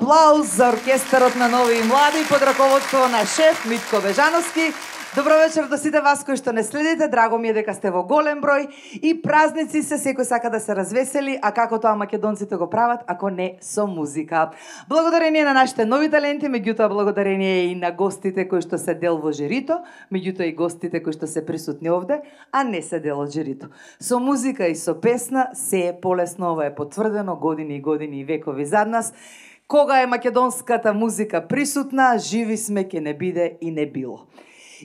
аплауз за оркестарот на Нови и Млади под раководство на шеф Митко Бежановски. Добро вечер до сите вас кои што не следите, драго ми е дека сте во голем број и празници се, секој сака да се развесели, а како тоа македонците го прават, ако не со музика. Благодарение на нашите нови таленти, меѓутоа благодарение и на гостите кои што се дел во жирито, меѓутоа и гостите кои што се присутни овде, а не се дел од жирито. Со музика и со песна се е полесно, ова е потврдено години и години и векови зад нас. Кога е македонската музика присутна, живи сме, ке не биде и не било.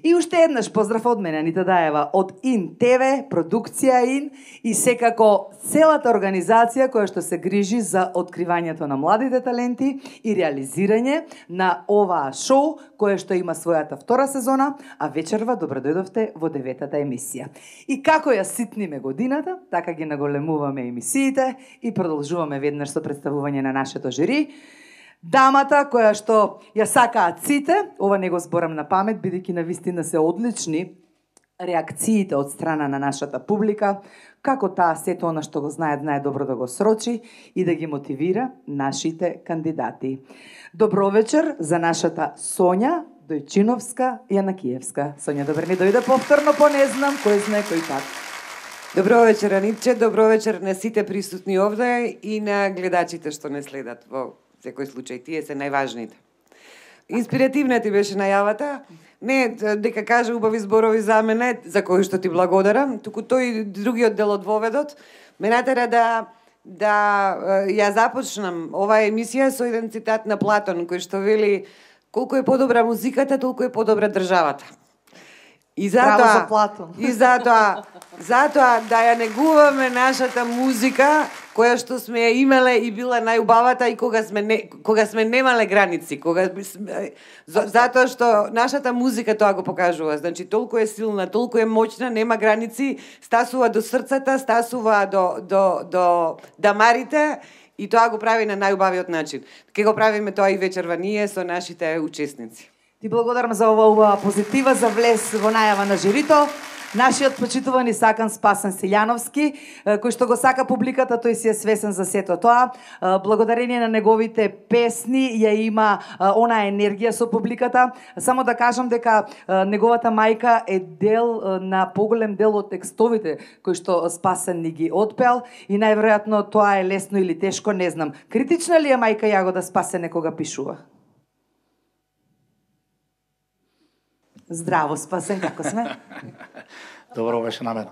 И уште еднаш поздрав од мене, Анита Даева, од ИН ТВ, продукција ИН и секако целата организација која што се грижи за откривањето на младите таленти и реализирање на оваа шоу, кое што има својата втора сезона, а вечерва добро дојдовте во 9-та емисија. И како ја ситниме годината, така ги наголемуваме емисиите и продолжуваме веднаш со представување на нашето жири. Дамата која што ја сакаат сите, ова не го зборам на памет, бидејќи навистина се одлични реакциите од страна на нашата публика, како таа сето она што го знае добро да го срочи и да ги мотивира нашите кандидати. Добро вечер за нашата Сонја Дојчиновска Јанакиевска. Сонја, добре ми дојде повторно, по не знам, кој знае кој пат. Добро вечер, Анитче, добро вечер на сите присутни овде и на гледачите што не следат во секој случај, тие се најважните. Инспиративна ти беше најавата, не дека каже убави зборови за мене, за кои што ти благодарам, туку тој другиот дел од воведот ме натера да ја започнам оваа емисија со еден цитат на Платон, кој што вели: колку е подобра музиката, толку е подобра државата. И затоа да ја негуваме нашата музика, која што сме ја имале и била најубавата и кога сме немале граници, затоа што нашата музика тоа го покажува. Значи толку е силна, толку е моќна, нема граници, стасува до срцата, стасува до дамарите и тоа го прави на најубавиот начин. Ке го правиме тоа и вечерва ние со нашите учесници. Ти благодарам за ова позитива, за влез во најава на жирито. Нашиот почитуван и сакан Спасен Силјановски, кој што го сака публиката, тој си е свесен за сето тоа. Благодарение на неговите песни ја има она енергија со публиката. Само да кажам дека неговата мајка е дел на поголем дел од текстовите кои што Спасен ни ги отпел и најверојатно тоа е лесно или тешко, не знам. Критична ли е мајка Јагода Спасен некога пишува? Здраво, Спасен, како сме? Добро беше на мене.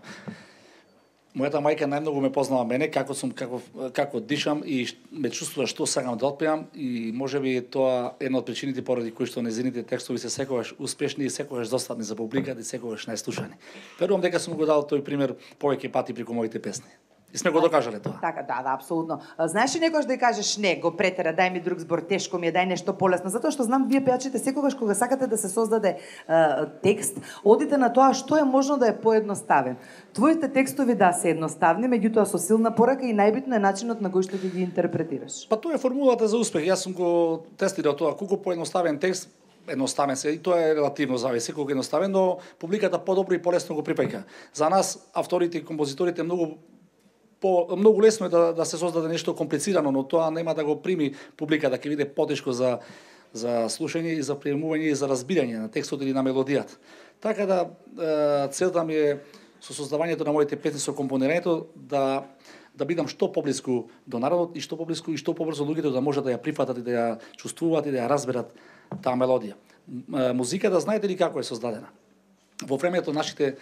Мојата мајка најмногу ме познава мене, како дишам и ме чувствува што сакам да отпеам и можеби тоа е една од причините поради кои што незините текстови се секогаш успешни и секогаш достапни за публиката и секогаш најслушани. Верувам дека сум го дал тој пример повеќе пати преку моите песни. И сме го докажале тоа. Така, да, апсолутно. Знаеш ли некојаш да ја кажеш не, го претера, дај ми друг збор, тешко ми е, дај нешто полесно, затоа што знам вие пејачите секогаш кога сакате да се создаде текст, одите на тоа што е можно да е поедноставен. Твоите текстови да се едноставни, меѓутоа со силна порака и најбитно е начинот на кој што ги интерпретираш. Па тоа е формулата за успех. Јас сум го тестирал тоа, колку поедноставен текст едноставен се, и тоа е релативно зависи, колку едноставен, но публиката подобро и полесно го припаѓа. За нас авторите и композиторите многу лесно е да се создаде нешто комплицирано, но тоа нема да го прими публиката, ќе биде потешко за слушање и за приемување и за разбирање на текстот или на мелодијата. Така да целта ми е со создавањето на моите песни, со компонирањето да бидам што поблиску до народот и што поблиску и што побрзо луѓето да можат да ја прифатат и да ја чувствуваат и да ја разберат таа мелодија. Музиката знаете ли како е создадена? Во времето нашите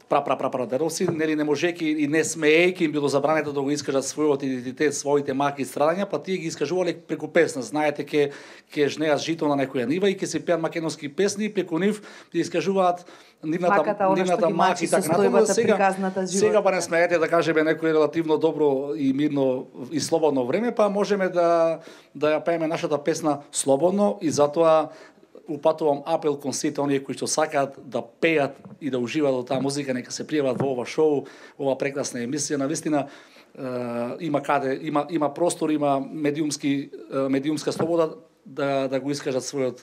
прапрадедовци, нели не можеки и не смеејки им било забрането да го искажат својот идентитет, своите маки и страдања, па тие ги искажувале преку песна. Знаете, ке жнеат жито на некоја нива и ке се пеат македонски песни и преку нив ги искажуваат нивната маки и така натаму. Сега па не смеете да кажеме некој релативно добро и мирно и слободно време, па можеме да ја пееме нашата песна слободно и затоа упатувам апел кон сите оние кои што сакаат да пеат и да уживаат во таа музика, нека се пријават во ова шоу, ова прекрасна емисија. Навистина има простор, има медиумска слобода да го искажат својата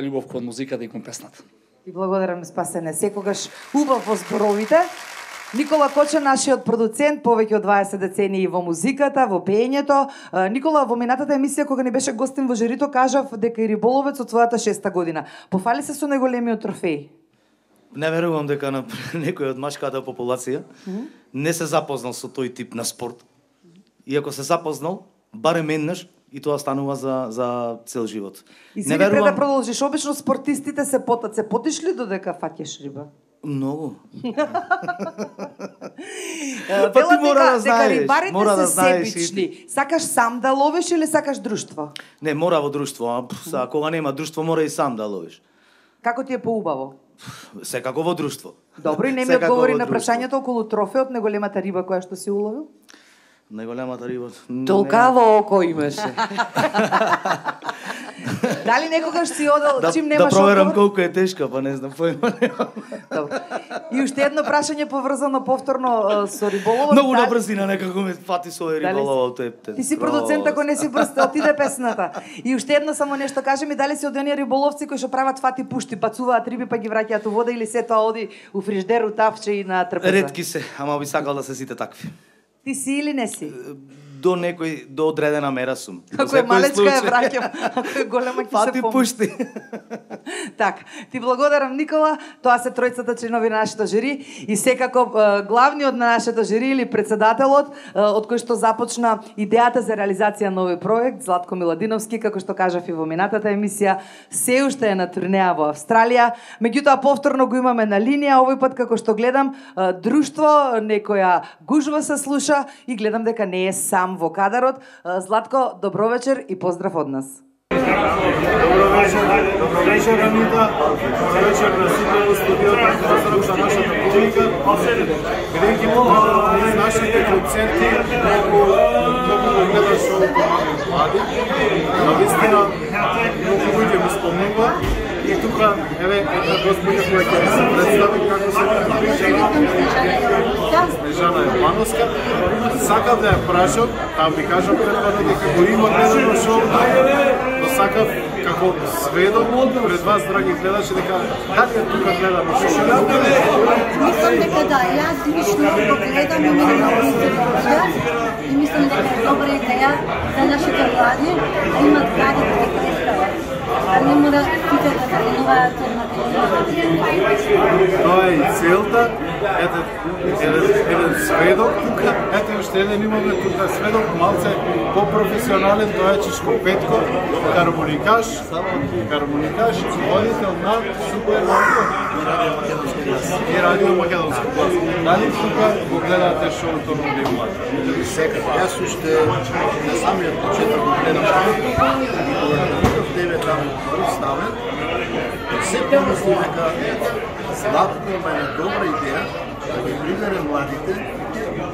љубов кон музиката и кон песната. И благодарам, Спасене, секогаш убав во зборовите. Никола Коче, нашиот продуцент, повеќе од 20 децении во музиката, во пеењето. Никола, во минатата емисија кога ни беше гостин во жирито, кажав дека и риболовец од својата 6-та година. Пофали се со најголемиот трофеј? Не верувам дека на некој од машката популација не се запознал со тој тип на спорт. И ако се запознал, барем еднаш, и тоа станува за цел живот. И не верувам... пред да продолжиш, обично спортистите се потат. Се потиш ли додека фаќаш риба? Многу. Па ти мора да знаеш, рибарите се себични. Сакаш сам да ловиш или сакаш друштво? Не, мора во друштво. А кога нема друштво, мора и сам да ловиш. Како ти е поубаво? Секако во друштво. Добро, и не ми одговори на прашањето околу трофеот, најголемата риба која што си уловил? Најголемата риба... Толкаво око имаше. Дали некогаш си одел чим немаш око? Да проверам одговор? колку е тешка, па не знам, поима немам. И уште едно прашање поврзано повторно со риболовот. Многу на брзина некако ме фати со риболовот. Ти си продуцент, ако не си брз, отиде песната. И уште едно само нешто кажи ми, дали си од оние риболовци кои што прават фати пушти, бацуваат риби па ги враќаат у вода или се тоа оди у фриждер, у тафче и на трпеза? Ретки се, ама би сакал да се сите такви. Ти си или не си? До некој, до одредена мера сум. Ако е малечка ја враќам, ако е голема ќе се помни. пушти. Така, ти благодарам Никола, тоа се тројцата членови на нашето жири и секако главниот на нашето жири или председателот, од кој што започна идејата за реализација на овој проект, Златко Миладиновски, како што кажав и во минатата емисија, се уште е на турнеја во Австралија, меѓутоа повторно го имаме на линија, овој пат како што гледам, друштво, некоја гужва се слуша и гледам дека не е сам во кадарот. Златко, добро вечер и поздрав од нас. Добро вечер, Анита. Добро вечер на сите во студиото, поздрав за нашата публика. Бидејќи из нашите концерти многу гледа шоуто млади. Навистина, многу луѓе ми спомнува. И тука, еве, една господја која ќе се представи како се Снежана Јовановска. Сакав да ја прашам, ви кажам предварно дека го има гледано шоуто, но сакав како сведок пред вас, драги гледачи, дека дали е тука гледано шоуто? Мислам дека да, јас лично го гледам и ми много интересува и мислам дека е добра идеја за нашите млади да имат каде да ги представат. А не мора сите да тренуваат на Тоа е и целта. Ете, еден сведок тука, ете уште еден имаме тука сведок, малце по-професионален, тоа е Чичко Петко, хармоникаш, водител на Супер Радио и Радио Македонски глас. Дали тука го гледате шоуто на овие млади? Секако. Јас уште на самиот почеток го гледам шоуто и кога видов тебе таму представен, се помислив дека Златко има една добра идеја да ги прибере младите,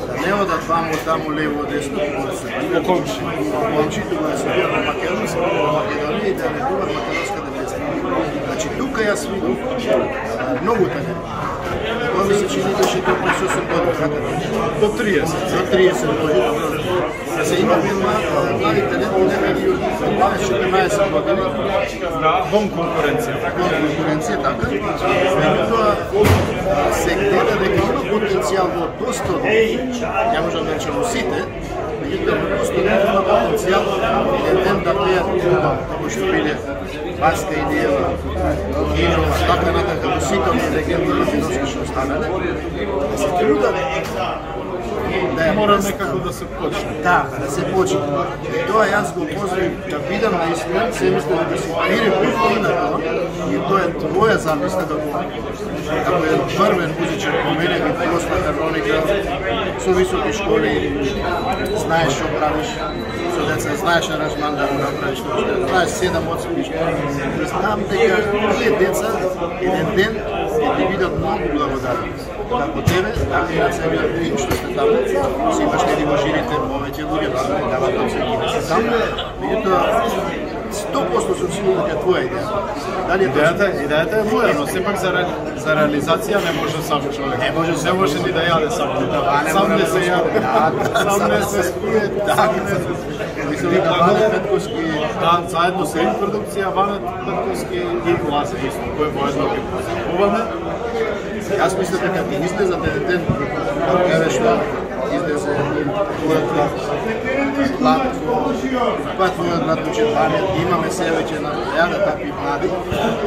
да не одат таму лево десно, кога се бидат комши, кога се бидат во Македонија и да не бидат македонската песна. Значи тука јас видов многу така. Тоа ми се чини беше до 8 години, до 30. До 30 години. Да се има млади таленти, некаде од 12-14 години. Бон конкуренција. Така. Меѓутоа се гледа дека има потенцијал во доста од ја можам да речем сите, меѓутоа просто има потенцијал еден ден да пеат клуба, како што биле Баска Илиева, Кинова, така натака во сите од легенди македонски што останале, да се трудаме мора некако да се почне. Да, да се почне. И тоа јас го поздравив да бидам наистина, се мислам да си перепутни на тоа, и тоа е твоја замисла да го како еден првен музичар по мене би просто хармоника со високи школи, знаеш што правиш со деца, знаеш аранжман да го направиш, знаеш 7-8 школи. Знам дека тие деца еден ден ќе ти бидат многу благодарни. Како тебе, така и на целиот тим што сте таму, си имаш неди во жирите повеќе луѓе да се дават од се таму, меѓутоа 100% сум сигурен дека твоја идеја. Дали е идејата е моја, но сепак за реализација не може сам човек. Не може ни да јаде сам. Сам не се јаде. Сам не се спие. Вика Ване Петковски. Да, заедно со им продукција, Ване Петковски и Лазе исто, кој воедно ги позивуваме. Јас мислам дека ќе излезат еден ден, еве што излезе твојата надлучен памет, имаме се веќе на јада такви млади.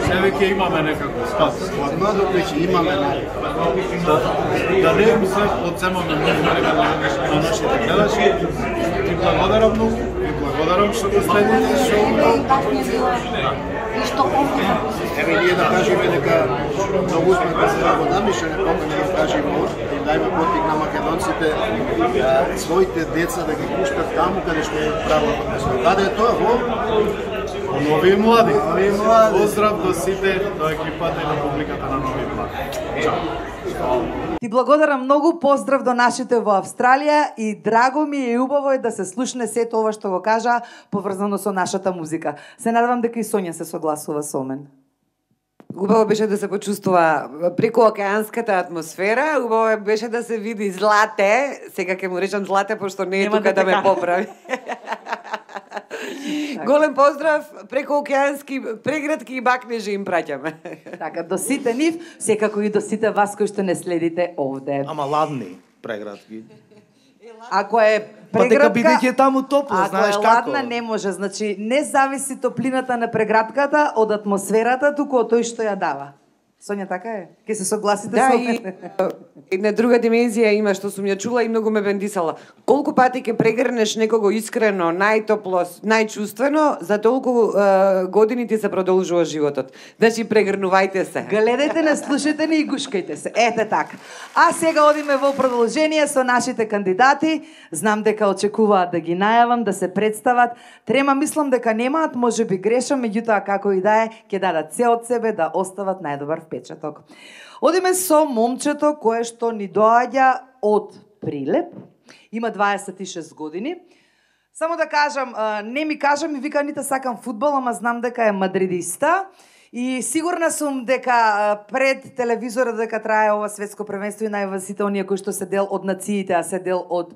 Се веќе имаме некако спас. Од младот веќе имаме Да не им се одземаме многу време на нашите гледачи. Ти благодарам многу, ви благодарам што го следите шоуто. И што овде Еве ние да кажеме дека многу сме благодарни што не покана да кажеме и да има потик на македонците своите деца да ги пуштат таму каде што е правото место. Каде е тоа? Во Нови Млади. Поздрав до сите, до екипата и на публиката на Нови Млади. Чао. Ти благодарам многу, поздрав до нашите во Австралија и драго ми е и убаво е да се слушне сето ова што го кажа поврзано со нашата музика. Се надевам дека и Сонја се согласува со мен. Убаво беше да се почувствува преку океанската атмосфера, убаво беше да се види Злате, сега ќе му речам Злате, пошто не е Нема тука да да ме така. поправи. Голем поздрав, преку океански преградки и бакнежи им праќаме. Така, до сите нив, секако и до сите вас кои што не следите овде. Ама ладни преградки. Ако е Па дека преградка, бидејќи е таму топло, знаеш ако е како. ладна, не може. Значи, не зависи топлината на преградката од атмосферата, туку од тој што ја дава. Сонја, така е? Ке се согласите Да, со и мене? една друга димензија има што сум ја чула и многу ме бендисала. Колку пати ќе прегрнеш некого искрено, најтопло, најчувствено, за толку години ти се продолжува животот. Значи прегрнувајте се. Гледајте не, слушајте не и гушкајте се. Ете така. А сега одиме во продолжение со нашите кандидати. Знам дека очекуваат да ги најавам, да се представат. Трема мислам дека немаат, може би грешам, меѓутоа како и да е, ќе дадат се од себе да остават најдобар впечаток. Одиме со момчето кое што ни доаѓа од Прилеп. Има 26 години. Само да кажам, не ми кажам и вика ните сакам фудбал, ама знам дека е мадридиста. И сигурна сум дека пред телевизорот дека трае ова светско првенство и најава сите оние кои што се дел од нациите, а се дел од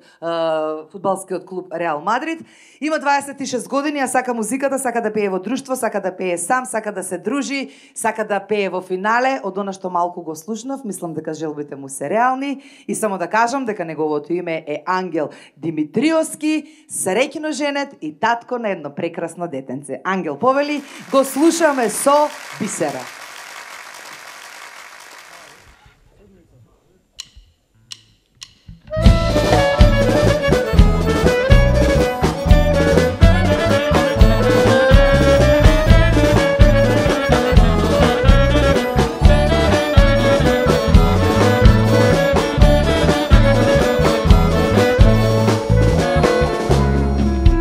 фудбалскиот клуб Реал Мадрид. Има 26 години, а сака музиката, сака да пее во друштво, сака да пее сам, сака да се дружи, сака да пее во финале. Од она што малку го слушнав, мислам дека желбите му се реални. И само да кажам дека неговото име е Ангел Димитриовски, среќно женет и татко на едно прекрасно детенце. Ангел повели, го слушаме со Бисера.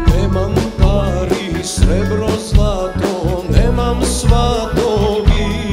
Nemam pari, srebro, zlato, nemam svatovi.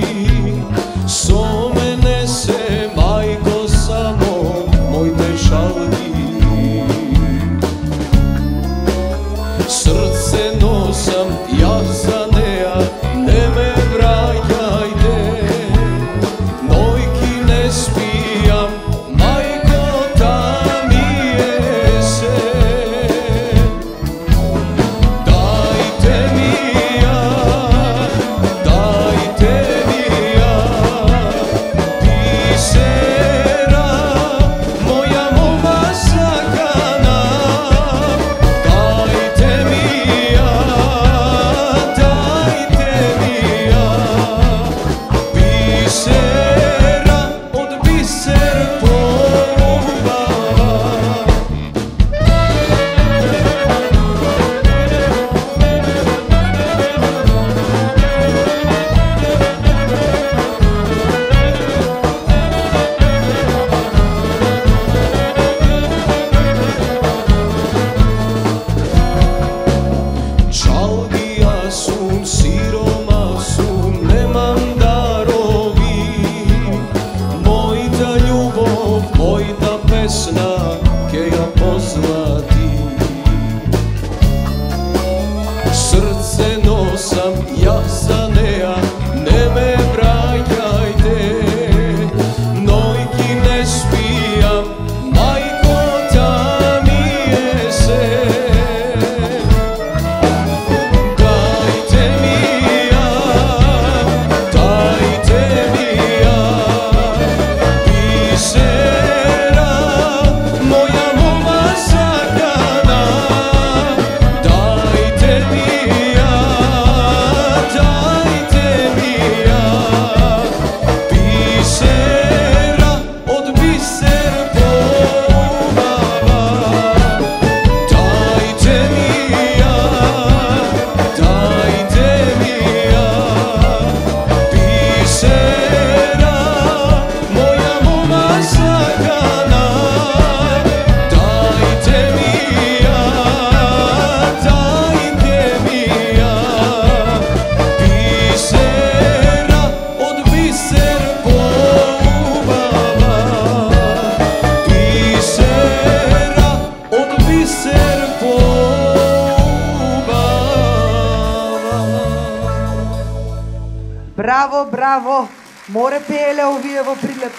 Браво, браво. Море пееле овие во Прилеп.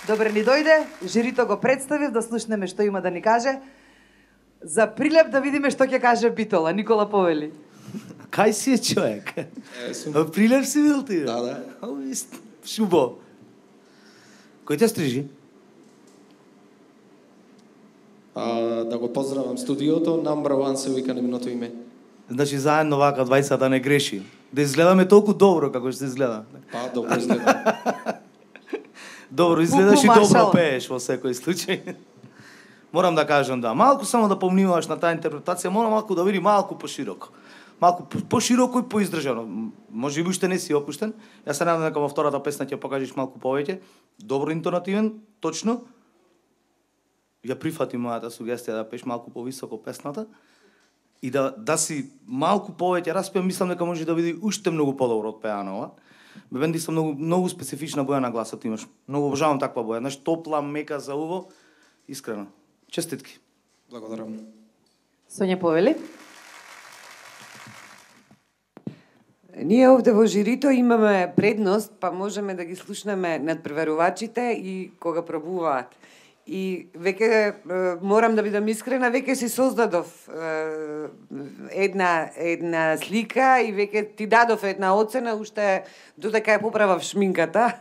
Добре, ни дојде, жирито го представив, да слушнеме што има да ни каже. За Прилеп да видиме што ќе каже Битола. Никола повели. Кај си е човек? Прилеп си бил ти? Да. Шубо. Кој те стрижи? Да го поздравам студиото, Number One се вика неговото име. Значи заедно вака 20 да не греши. Да изгледаме толку добро како што изгледа. Па, добро изгледа. Добро изгледаш и добро пееш во секој случај. Морам да кажам да, малку само да помниваш на таа интерпретација, мора малку да биде малку пошироко. Малку пошироко и поиздржано. Може би уште не си опуштен. Јас се надам дека во втората песна ќе покажеш малку повеќе. Добро интонативен, точно. Ја прифати мојата сугестија да пееш малку повисоко песната и да си малку повеќе распеа, мислам дека може да биде уште многу подобро од пеанова. Бенди са многу специфична боја на гласот имаш. Многу обожавам таква боја. Знаеш, топла, мека за уво, искрено. Честитки. Благодарам. Сонја повели. Ние овде во жирито имаме предност, па можеме да ги слушнеме надпреварувачите и кога пробуваат. И веќе морам да бидам искрена, веќе си создадов една слика и веќе ти дадов една оцена, уште додека ја поправав шминката.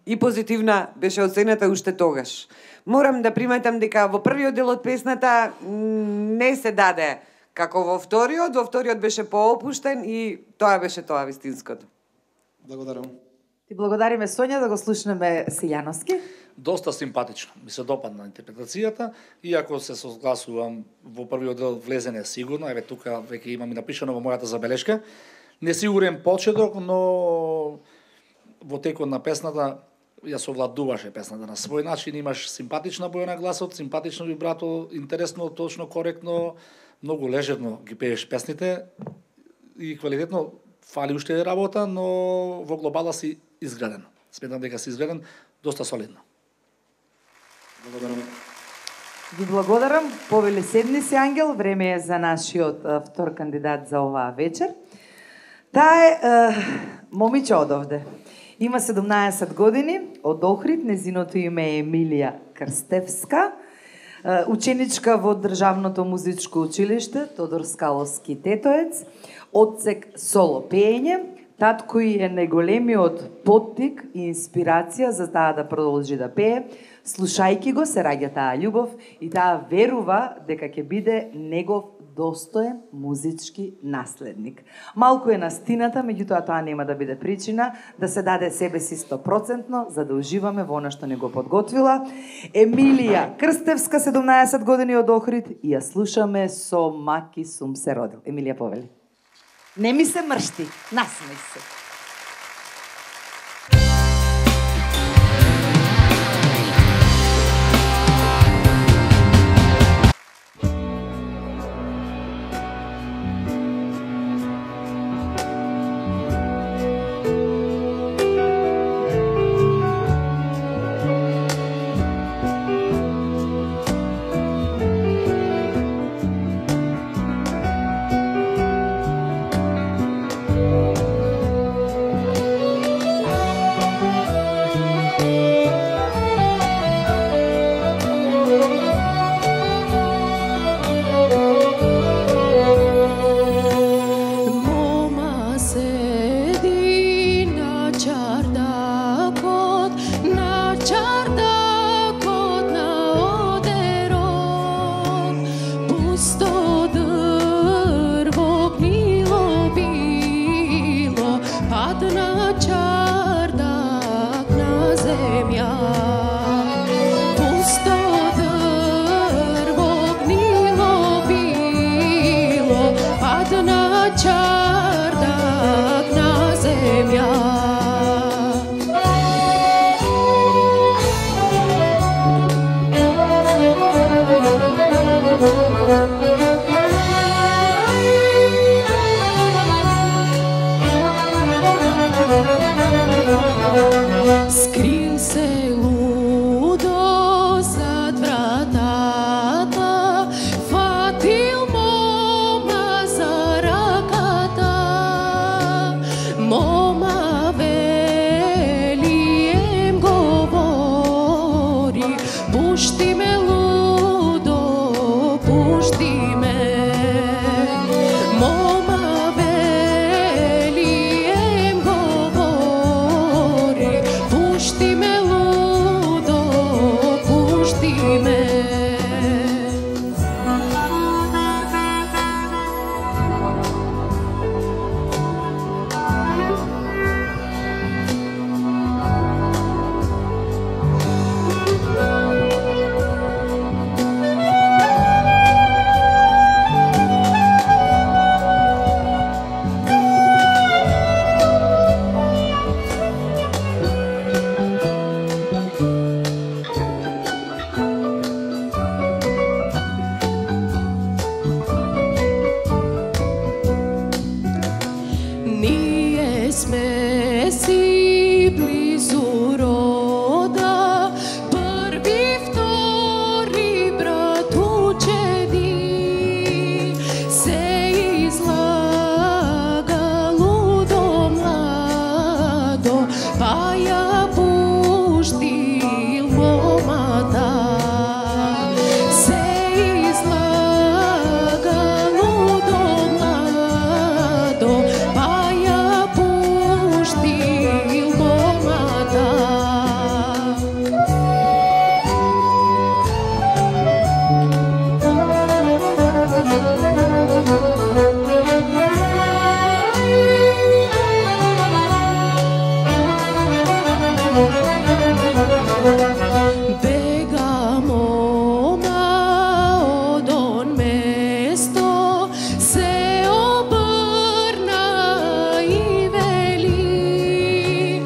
И позитивна беше оцената уште тогаш. Морам да приметам дека во првиот дел од песната не се даде како во вториот беше поопуштен и тоа беше тоа вистинското. Благодарам. Ти благодариме, Сонја, да го слушнеме Силјановски. Доста симпатично. Ми се допадна интерпретацијата, иако се согласувам во првиот дел влезене сигурно, еве тука веќе имам и напишано во мојата забелешка. Несигурен почеток, но во текот на песната ја совладуваше песната на свој начин, имаш симпатична боја на гласот, симпатично вибрато, интересно, точно, коректно, многу лежерно ги пееш песните и квалитетно. Фали уште работа, но во глобала си изграден. Сметам дека си изграден доста солидно. Благодарам. Ви благодарам. Повели седни си, Ангел. Време е за нашиот втор кандидат за оваа вечер. Таа е момиче од овде. Има 17 години, од Охрид, незиното име е Емилија Крстевска. Ученичка во Државното музичко училиште Тодор Скаловски Тетоец, одсек соло пеење. Татко е најголемиот поттик и инспирација за таа да продолжи да пее. Слушајки го се раѓа таа љубов и таа верува дека ќе биде негов достоен музички наследник. Малку е настината, меѓутоа тоа нема да биде причина да се даде себе си 100%, за да уживаме во она што не го подготвила. Емилија Крстевска, 17 години, од Охрид, и ја слушаме со Маки сум се родил. Емилија, повели. Не ми се мршти, насмеј се. Скрил се лудо зад вратата, фатил мома за раката. не си близу рода, први, втори брат ученик, се излагало до младо, па ја пуштил момата. Се излагало до младо, па ја пуштил момата. Бега мома од он место, се обрна и вели,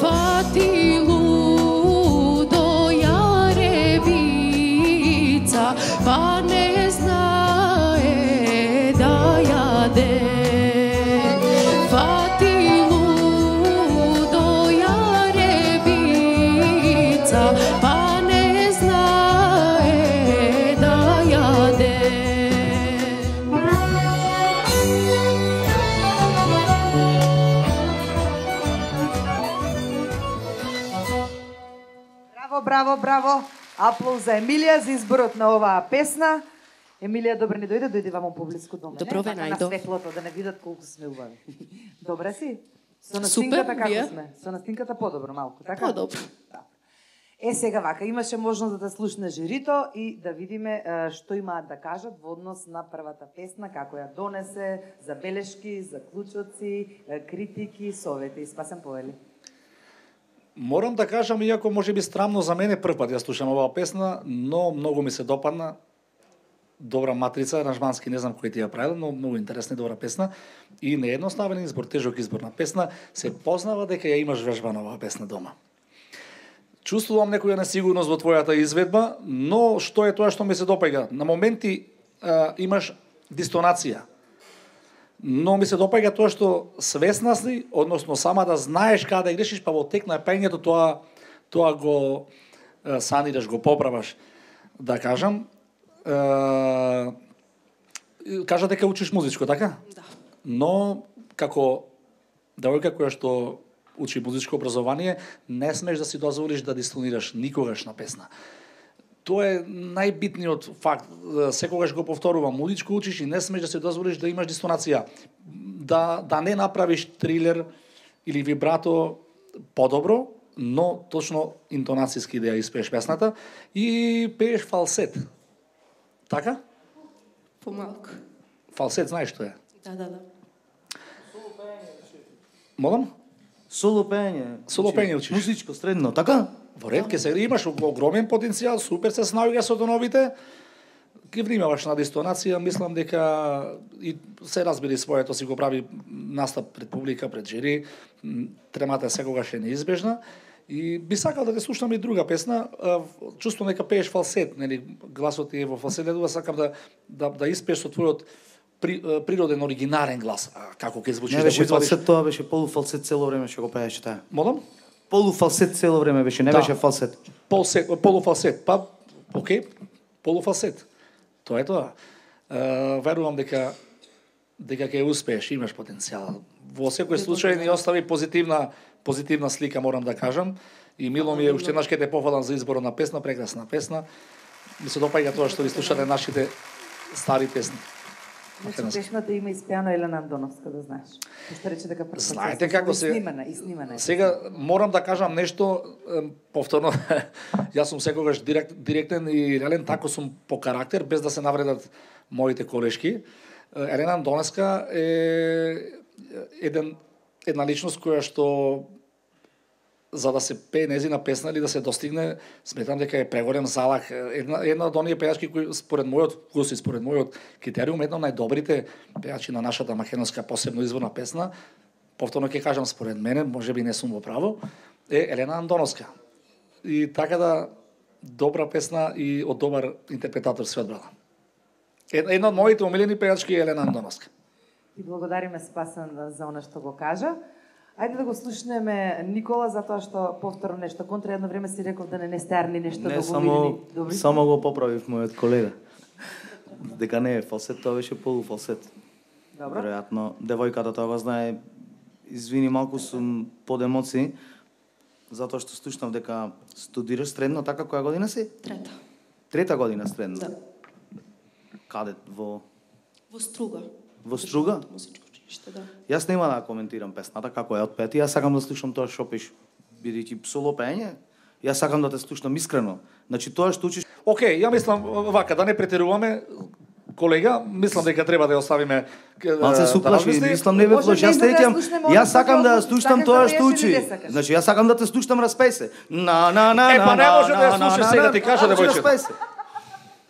фатилу до јаревица, па не знае да јаде. Фатилу до јаревица, па не знае да јаде. Браво, браво, браво. Аплауз за Емилија за изборот на оваа песна. Емилија, добре ни дојде вамо поблиску до мене. Добро ве Така најдов. На светлото, да не видат колку сме убави. Добре си? Со Супер, настинката како вие? сме? Со настинката подобро малку, така? Подобро. Сега вака, имаше можност да слушне жирито и да видиме што имаат да кажат во однос на првата песна, како ја донесе, забелешки, заклучоци, критики, совети. Спасен повели. Морам да кажам, иако може би странно за мене прв пат ја слушам оваа песна, но многу ми се допадна. Добра матрица, аранжмански не знам кој ти ја правил, но многу интересна и добра песна. И неедноставен избор, тежок избор на песна, се познава дека ја имаш вежбана оваа песна дома. Чувствувам некоја несигурност во твојата изведба, но што е тоа што ми се допаѓа? На моменти имаш дистонација. Но ми се допаѓа тоа што свесна си, односно сама да знаеш каде да грешиш, па во тек на пењето тоа го санираш, го поправаш. Да кажам, кажа дека учиш музичко, така? Да. Но како девојка која што учи музичко образование, не смеш да си дозволиш да дистонираш никогаш на песна. Тоа е најбитниот факт. Секогаш го повторувам, музичко учиш и не смеш да си дозволиш да имаш дистонација. Да не направиш трилер или вибрато подобро, но точно интонацијски да ја испееш песната и пееш фалсет. Така? Помалку. Фалсет знаеш што е? Да. Молам? Соло пење. Соло пење учиш. Музичко, средно, така? Во ред, ке се имаш огромен потенцијал, супер се снаоѓаш со тоновите. Ке внимаваш на дистонација, мислам дека и се разбери своето, си го прави настап пред публика, пред жири. Тремата секогаш е неизбежна. И би сакал да те слушам и друга песна. Чувствувам дека пееш фалсет, нели, гласот ти е во фалсет, да сакам да испееш со твојот природен, оригинален глас. Како ќе звучиш? Не беше фалсет, тоа беше полуфалсет цело време што го пееше таа. Молам? Полуфалсет цело време беше, не беше фалсет. Полуфалсет, па, окей, полуфалсет. Тоа е тоа. Верувам дека ќе успееш, имаш потенцијал. Во секој случај ни остави позитивна слика, морам да кажам. И мило ми е, уште еднаш ке те пофалам за изборот на песна, прекрасна песна. Ми се допаѓа тоа што ви слушате нашите стари песни. Значи, песната има испеано Елена Андоновска, да знаеш. Што рече дека знаете како се снимана. Сега морам да кажам нешто повторно. Јас сум секогаш директен и реален, тако сум по карактер, без да се навредат моите колешки. Елена Андоновска е една личност која што за да се пее незина песна или да се достигне, сметам дека е преголем залак. Една од оние пејачки кои според мојот вкус и според мојот критериум, една од најдобрите пејачи на нашата македонска посебно изворна песна, повторно ќе кажам според мене, можеби не сум во право, е Елена Андоновска. И така да добра песна и од добар интерпретатор се одбрала. Една од моите омилени пејачки е Елена Андоновска. И благодариме Спасен за она што го кажа. Ајде да го слушнеме Никола, затоа што повторно нешто контра, едно време си реков да не стерни нешто Не, да го види. само го поправив мојот колега. Дека не е фалсет, тоа беше полуфалсет. Добро. Веројатно, девојката тоа го знае. Извини, малку сум под емоции, затоа што слушнав дека студираш средно, така која година си? Трета година средно? Да. Каде? Во Струга. Во Струга? Музичко училиште, да. Јас нема да коментирам песната, како е отпети, јас сакам да слушам тоа што пиш, бидејќи соло пеење, јас сакам да те слушам искрено. Значи тоа што учиш... Океј, ја мислам вака, да не претеруваме, колега, мислам дека треба да ја оставиме Малце се уплаши, мислам не ве Може плаши, јас да ја сеќам, слушнеме јас одма сакам да по-добро, слушам сакаш тоа да што пееш учи. или не сакаш? Значи јас сакам да те слушам, распеј се. На Па не може да ја слушаш сега, ти кажа девојчето. Распеј се.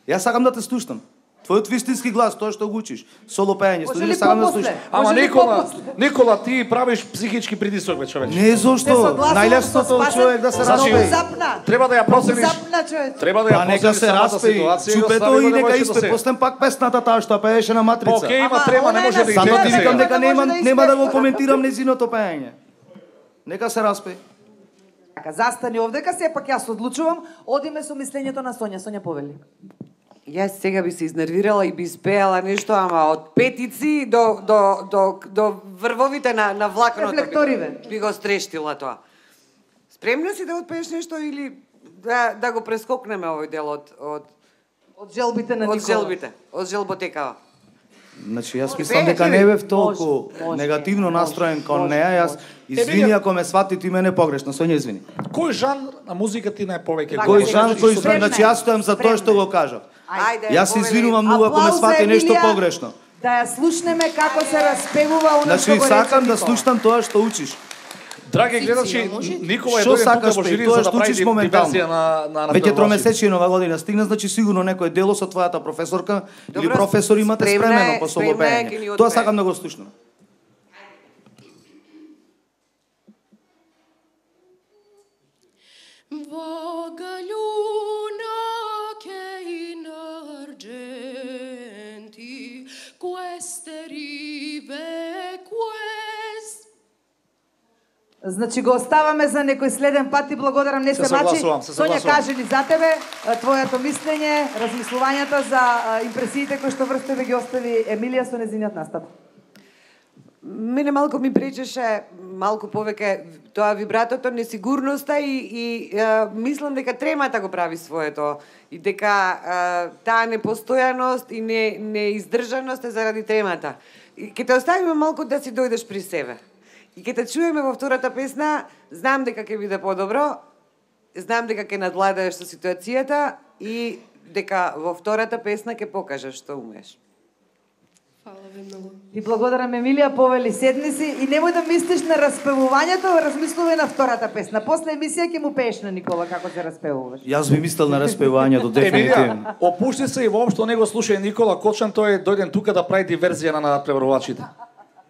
Јас сакам да те слушам. Твојот вистински глас, тоа што го учиш, соло пеење, Може студираш, ли сакам да попосле? слушам. Ама Може ли Никола, попосле? Никола, ти правиш психички притисок, бе, човече. Не зошто, најлесното човек да се Значи, распее. Запна. Треба да ја процениш. Запна, човече. Треба да Па ја нека процениш се самата распеи, ситуација. чупето и нека испе, постем пак песната таа што пееше на Матрица. Океј, има Ама, трема, она не е може на да ги Затоа ти гледаш викам сега. дека Не може да нема да го испее. коментирам незиното пеење. Нека се распе. Така, застани овдека, сепак јас одлучувам, одиме со мислењето на Сонја. Сонја повели. Јас сега би се изнервирала и би испеала нешто, ама од петици до врвовите на влакното. Рефлекториве. Би го стрештила тоа. Спремна си да отпееш нешто или да го прескокнеме овој дел Од желбите на од Никола. желбите, од желботекава? Значи јас мислам дека не бев толку Може, негативно настроен кон може, неа. Јас извини Емилија- ако ме свати ти мене погрешно, Сонја извини. Кој жанр на музика ти најповеќе Така, го Кој Кој жанр, кој спремна е, значи јас стојам за тоа што спремна е. го кажав. Ајде, Јас се повели. извинувам многу ако ме Аплауз за свати нешто Емилија, погрешно. Да ја слушнеме како се распевува она Значи што го рече сакам да Никола. слушам тоа што учиш. Драги Фикција, гледачи, може? Никола е Што дојден тука сакаш во пе, жири тоа за да што прави учиш моментално. диверзија на Веќе преводачите. тромесечие нова година стигна, значи сигурно некој дело со твојата професорка или Добро, професор имате спремна е- спремено по соло спремна е, ќе ни пеење. Тоа отпее. сакам да го слушнам. Vaga luna che in argenti queste rive quest Значи го оставаме за некој следен пат и благодарам не Се се мачи. согласувам, се Сонја, согласувам. кажи ли за тебе твоето мислење, размислувањата за импресиите кои што врстове ги остави Емилија со незиниот настап? Мене малку ми пречеше малку повеќе тоа вибратото, несигурноста и мислам дека тремата го прави своето и дека таа непостојаност и неиздржаност е заради тремата. И ќе те оставиме малку да си дојдеш при себе. И ќе те чуеме во втората песна, знам дека ќе биде подобро, знам дека ќе надвладаеш со ситуацијата и дека во втората песна ќе покажеш што умееш. Фала ви многу. И благодарам Емилија, повели седни си и немој да мислиш на распевувањето, размислувај на втората песна. После емисија ќе му пееш на Никола како се распевуваш. Јас би мислел на распевањето дефинитивно. Емилија, опушти се и воопшто не го слушај Никола Кочан, тој е дојден тука да прави диверзија на надпреварувачите.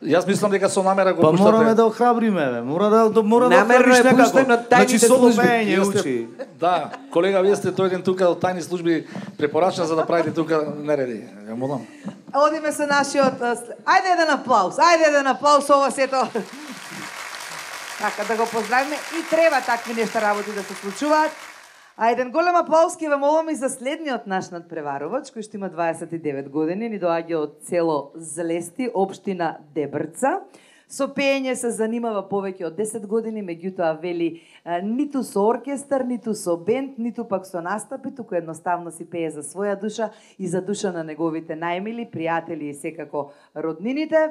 Јас мислам дека со намера го Па пуштате. мораме да охрабриме, бе. Мора да Намерно е охрабриш некако. пуштено од тајните Значи соло служби. пеење Вие сте- учи. Да, колега, вие сте дојден тука од тајни служби препорачен за да правите тука нереди. Ја молам. Одиме со нашиот... Ајде еден аплауз, ајде еден аплауз, ова сето. Така, да го поздравиме и треба такви нешта работи да се случуваат. А еден голем аплауз ќе ве молам и за следниот наш надпреварувач, кој што има 29 години, ни доаѓа од село Злести, општина Дебрца. Со пеење се занимава повеќе од 10 години, меѓутоа вели ниту со оркестар, ниту со бенд, ниту пак со настапи, туку едноставно си пее за своја душа и за душа на неговите најмили, пријатели и секако роднините.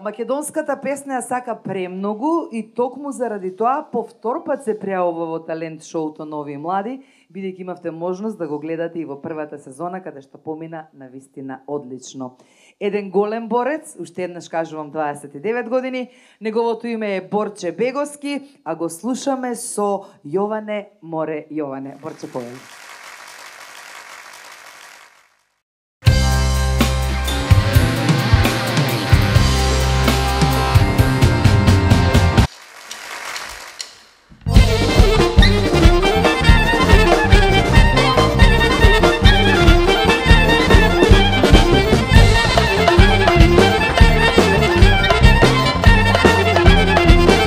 Македонската песна ја сака премногу и токму заради тоа по втор пат се пријавува во талент шоуто Нови и млади, бидејќи имавте можност да го гледате и во првата сезона, каде што помина на вистина одлично. Еден голем борец, уште еднаш кажувам 29 години, неговото име е Борче Беговски, а го слушаме со Јоване Море Јоване. Борче, повели. Vaga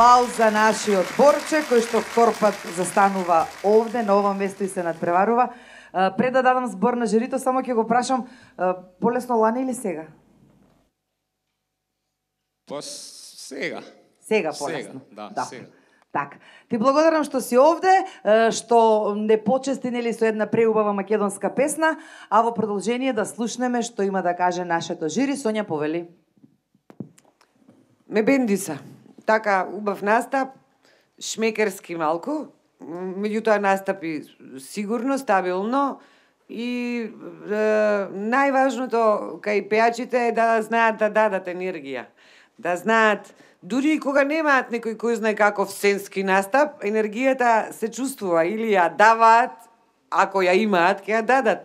аплауз за нашиот Борче, кој што втор пат застанува овде, на ова место и се надпреварува. Пред да дадам збор на жирито, само ќе го прашам, полесно лани или сега? Па сега. Сега полесно. Да, сега. Така. Ти благодарам што си овде, што не почести нели со една преубава македонска песна, а во продолжение да слушнеме што има да каже нашето жири. Сонја, повели. Ме бендиса. Така, убав настап, шмекерски малку, меѓутоа настапи сигурно, стабилно и најважното кај пеачите е да знаат да дадат енергија. Да знаат, дури и кога немаат некој кој знае каков сценски настап, енергијата се чувствува или ја даваат, ако ја имаат, ќе ја дадат.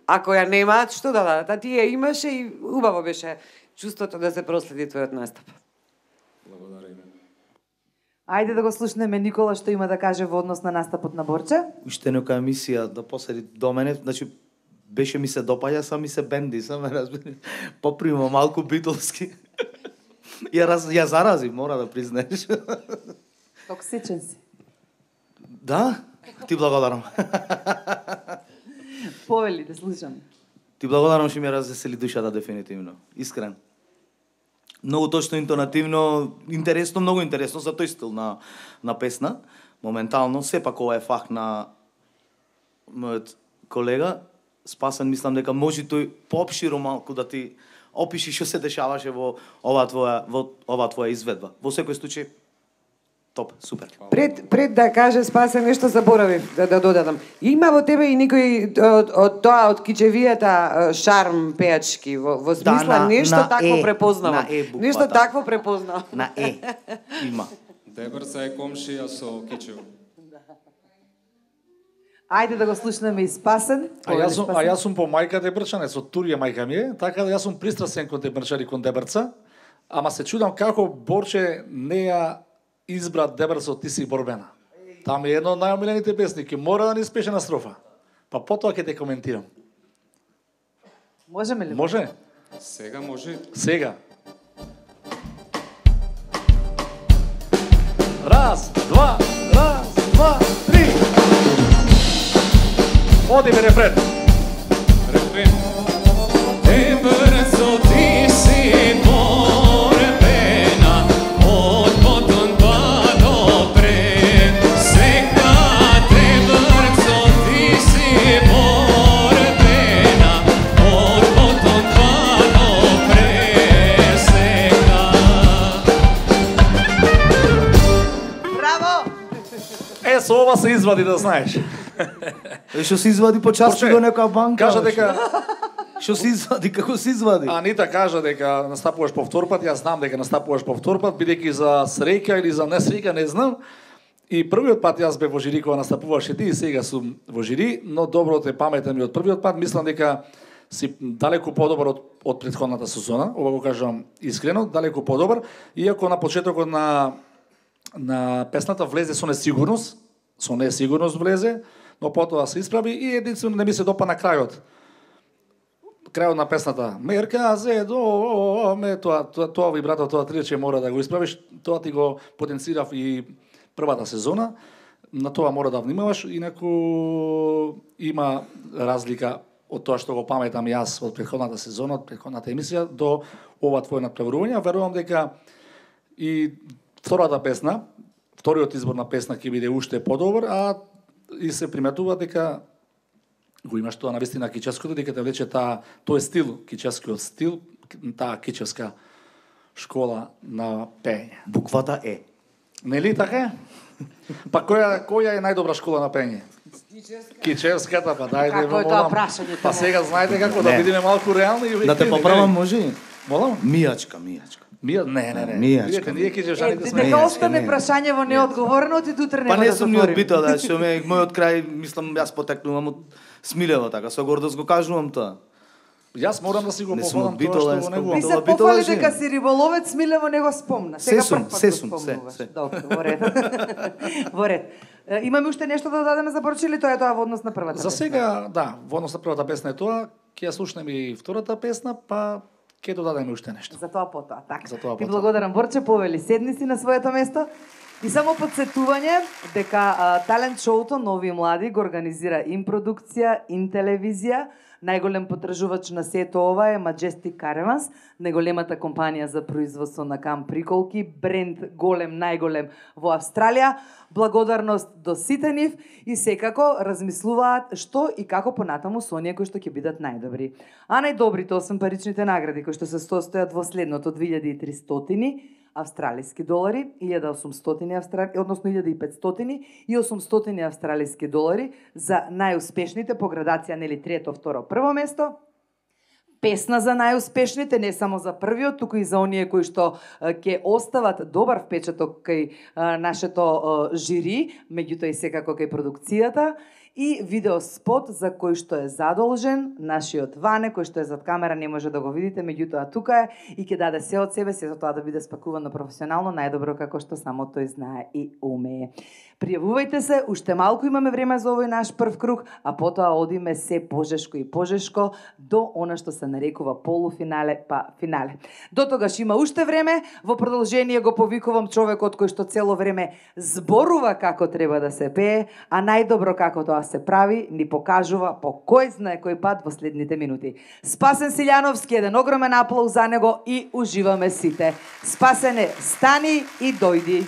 Ако ја немаат, што да дадат? А ти ја имаше и убаво беше чувството да се проследи твојот настап. Благодариме. Ајде да го слушнеме Никола што има да каже во однос на настапот на Борче. Уште нека емисија да поседи до мене, значи беше ми се допаѓа, сам ми се бенди, сам ме разбери. Поприма малку битолски. Ја зарази, мора да признаеш. Токсичен си. Да? Ти благодарам. Повели да слушам. Ти благодарам што ми развесели душата дефинитивно. Искрен. Многу точно, интонативно, интересно, многу интересно за тој стил на песна. Моментално, сепак ова е фах на мојот колега. Спасен, мислам дека може тој поопширо малку да ти опиши што се дешаваше во ова твоја изведба. Во секој случај, топ, супер. Пред да каже Спасен, нешто заборавив да додадам. Има во тебе и некој од тоа, од кичевијата шарм пеачки, во смисла нешто такво препознавам. Нешто такво препознавам. На има. Дебрца е комшија со Кичево. Ајде да го слушнеме и Спасен. А јас сум по мајка Дебрчане, со Турија мајка ми е, така да јас сум пристрасен кон Дебрчани, кон Дебрца, ама се чудам како Борче не ја избра Дебрца од Ти си борбена. Там е едно од најомилените песни, ке мора да ни спеше на строфа. Па потоа ќе те коментирам. Можеме ли? Може? Сега може. Сега. Раз, два, три. Одиме рефрен. Рефрен. Дебрцо, ти си борбена, од потон па до пред. Сега Дебрцо, ти си борбена, од потон па до пред. Сега. Браво! Со ова се извади, да знаеш. Што се извади почасти до некоја банка? Кажа дека Што се извади, како се извади? Анита кажа дека настапуваш повтор пат, јас знам дека настапуваш повтор пат, бидејќи за среќа или за несреќа не знам. И првиот пат јас бев во жири кога настапуваше ти и сега сум во жири, но доброто е паметен ми од првиот пат, мислам дека си далеку подобар од претходната сезона, ова го кажам искрено, далеку подобар, иако на почетокот на песната влезе со несигурност влезе, но потоа се исправи и единствено не ми се допа на крајот. Крајот на песната. Мерка зе до ме тоа вибрато, тоа триче мора да го исправиш, тоа ти го потенцирав и првата сезона. На тоа мора да внимаваш, инаку има разлика од тоа што го паметам јас од претходната сезона, од претходната емисија до ова твој надпреварување. Верувам дека и вториот избор на песна ќе биде уште подобар, а и се приметува дека го имаш тоа навистина кичевското, дека те влече тој стил, кичевскиот стил, таа кичевска школа на пење. Буквата Е. Нели така? Па која е најдобра школа на пење? Кичевската, па дајде Како е тоа прашање? Па сега знаете како да бидеме малку реални. Да те поправам, може? Молам? Мијачка. Не. Мијачка. Видете, ние кичевшаните сме. Дека остане прашање во неодговорено, ти утре нема Па да не сум ни од затворим. Битола, да, што мојот крај, мислам, јас потекнувам од Смилево, така, со гордост го кажувам тоа. Јас морам да си го Не сум пофалам од тоа Битола, што го јас негувам. Ти се Битола пофали живеам. дека си риболовец, Милево не го спомна. Сега Се прв пат сум, го се. спомнуваш. Добро, во ред. Во ред. Имаме уште нешто да дадеме за Борче или тоа е тоа во однос на првата За песна? сега, да, во однос на првата песна е тоа, ќе ја слушнеме и втората песна, па ќе додадеме уште нешто. За тоа потоа, така. За тоа Ти потоа. благодарам, Борче, повели. Седни си на своето место. И само подсетување дека талент шоуто Нови и млади го организира ин продукција, ин телевизија. Најголем потражувач на сето ова е Majestic Caravans, најголемата компанија за производство на камп приколки, бренд голем, најголем во Австралија. Благодарност до сите нив и секако размислуваат што и како понатаму со оние кои што ќе бидат најдобри. А најдобрите 8 паричните награди кои што се состојат во следното: 2300 австралиски долари, 1800 односно 1500 и 800 австралиски долари за најуспешните по градација, нели трето, второ, прво место. Песна за најуспешните, не само за првиот, туку и за оние кои што ќе остават добар впечаток кај нашето жири, меѓутоа и секако кај продукцијата. И видеоспот за кој што е задолжен, нашиот Ване, кој што е зад камера, не може да го видите, меѓутоа тука е и ќе даде се од себе, сето тоа да биде спакувано професионално, најдобро како што само тој знае и умее. Пријавувајте се, уште малку имаме време за овој наш прв круг, а потоа одиме се пожешко и пожешко до она што се нарекува полуфинале па финале. До тогаш има уште време, во продолжение го повикувам човекот кој што цело време зборува како треба да се пее, а најдобро како тоа се прави, ни покажува по кој знае кој пат во следните минути. Спасен Силјановски, еден огромен аплауз за него и уживаме сите. Спасене, стани и дојди.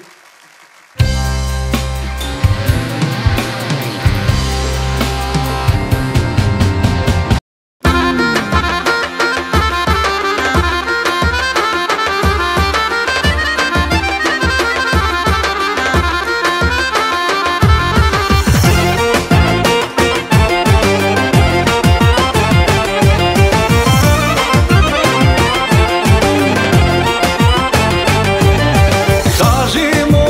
Кажи му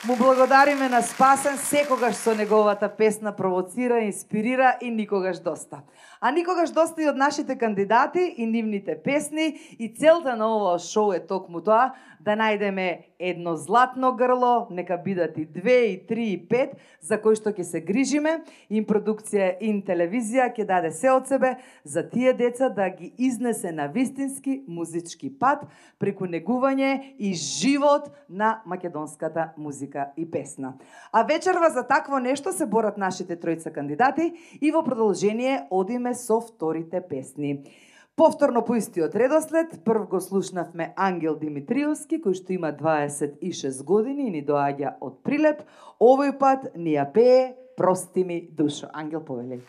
Му благодариме на Спасен секогаш со неговата песна провоцира, инспирира и никогаш доста. А никогаш доста и од нашите кандидати и нивните песни и целта на овој шоу е токму тоа да најдеме едно златно грло, нека бидат и 2, и 3, и 5, за кои што ќе се грижиме. Ин продукција, ин телевизија ќе даде се од себе за тие деца да ги изнесе на вистински музички пат преку негување и живот на македонската музика и песна. А вечерва за такво нешто се борат нашите тројца кандидати и во продолжение одиме со вторите песни. Повторно по истиот редослед, прв го слушнавме Ангел Димитриевски, кој што има 26 години и ни доаѓа од Прилеп. Овој пат ни ја пее Прости ми душо. Ангел, повелеј.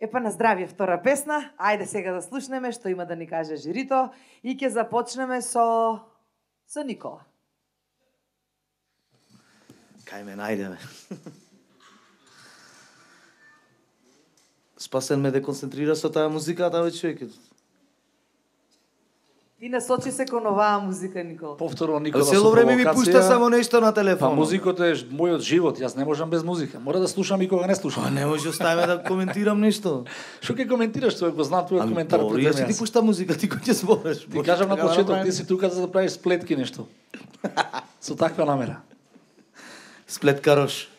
Епа на здравје втора песна. Ајде сега да слушнеме што има да ни каже жирито и ќе започнеме со Никола. Кај ме најдеме. Спасен ме деконцентрира со таа музика, таа човек. И насочи се кон оваа музика, Никола. Повторно Никола со Цело време ми провокација. пушта само нешто на телефон. Па музиката е мојот живот, јас не можам без музика. Мора да слушам и кога не слушам. Па не може оставаме да коментирам нешто. Што ќе коментираш, тоа го знам твојот коментар добро, пред јас мене. ти пушта музика, ти кој ќе збориш. Ти кажам на почеток, ти си тука за да правиш сплетки нешто. Со таква намера. Сплеткарош.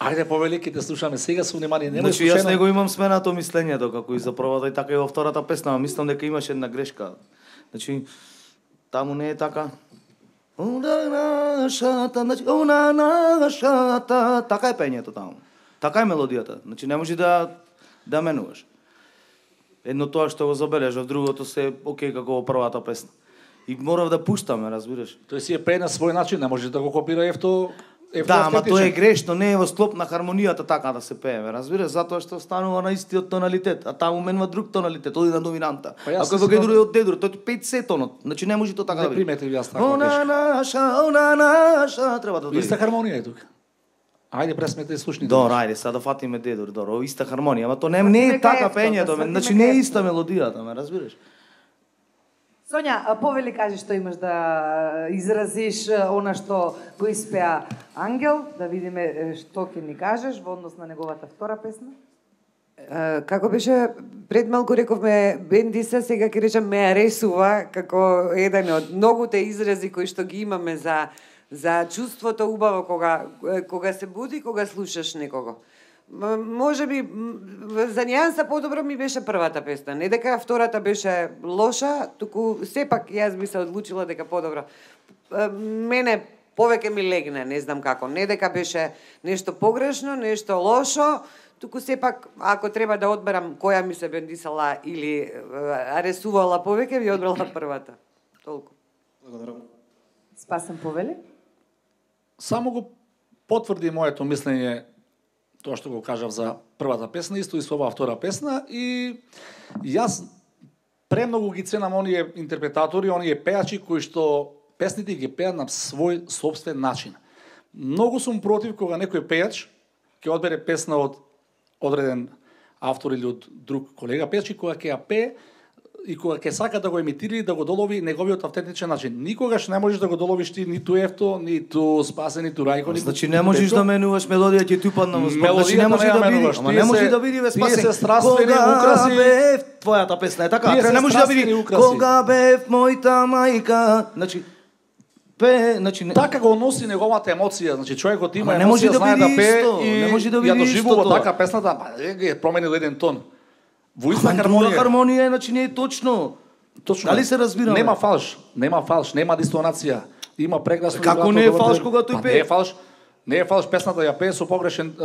Ајде повели, ќе те слушаме сега со внимание. Немој Значи јас случајно. него имам сменато мислењето како и за првата и така и во втората песна, мислам дека имаше една грешка. Значи таму не е така. Она нашата, значи она нашата, така е пењето таму. Така е мелодијата. Значи не може да менуваш. Едно тоа што го забележав, другото се окей како во првата песна. И морав да пуштаме, разбираш. Тој си е пее на свој начин, не може да го копира ефто. Да, ама тоа е грешно, не е во склоп на хармонијата така да се пееме, разбираш, затоа што станува на истиот тоналитет, а таму менува друг тоналитет, оди на доминанта. Па ако го гедур од дедур, тој 5 се тонот, значи не може тоа така да Не биде. приметив јас така Она наша, треба да Иста хармонија е тука. Ајде пресмете и слушни. Добро, ајде, сега да фатиме дедур, добро, иста хармонија, ама тоа не е така пењето, значи не е иста мелодијата, ме разбираш. Сонја, повели кажи што имаш да изразиш она што го испеа Ангел, да видиме што ќе ни кажеш во однос на неговата втора песна. Како беше пред малку рековме бендиса, сега ќе речам ме аресува како еден од многуте изрази кои што ги имаме за чувството убаво кога се буди, кога слушаш некого. Може би за нијанса подобро ми беше првата песна. Не дека втората беше лоша, туку сепак јас би се одлучила дека подобро. Мене повеќе ми легне, не знам како. Не дека беше нешто погрешно, нешто лошо, туку сепак ако треба да одберам која ми се бендисала или аресувала повеќе, би одбрала првата. Толку. Благодарам. Спасен повели? Само го потврди моето мислење тоа што го кажав за првата песна, исто и со оваа втора песна, и јас премногу ги ценам оние интерпретатори, оние пеачи кои што песните ги пеат на свој собствен начин. Многу сум против кога некој пеач ќе одбере песна од одреден автор или од друг колега пеач и кога ќе ја пее и кога ќе сака да го емитира и да го долови неговиот автентичен начин. Никогаш не можеш да го доловиш ти ниту Ефто, ниту Спасен, ниту Рајко, ниту. Значи не можеш да менуваш мелодија ќе ти упадна во збор. Значи не може да биде, ама не може да биде ве Спасен. Тие се страствени украси. Бев твојата песна е така. Не може да биде кога бев мојта мајка. Значи значи така го носи неговата емоција, значи човекот има не може емоција, да знае биде да пее исто, не може да и биде ја доживува исто така песната, па е променил еден тон. Во иста хармонија. хармонија. Хармонија, значи не е точно. Точно. Дали се разбираме? Нема фалш, нема дистонација. Има прекрасно. Како не е фалш кога тој пее? Не е фалш, песната ја пее со погрешен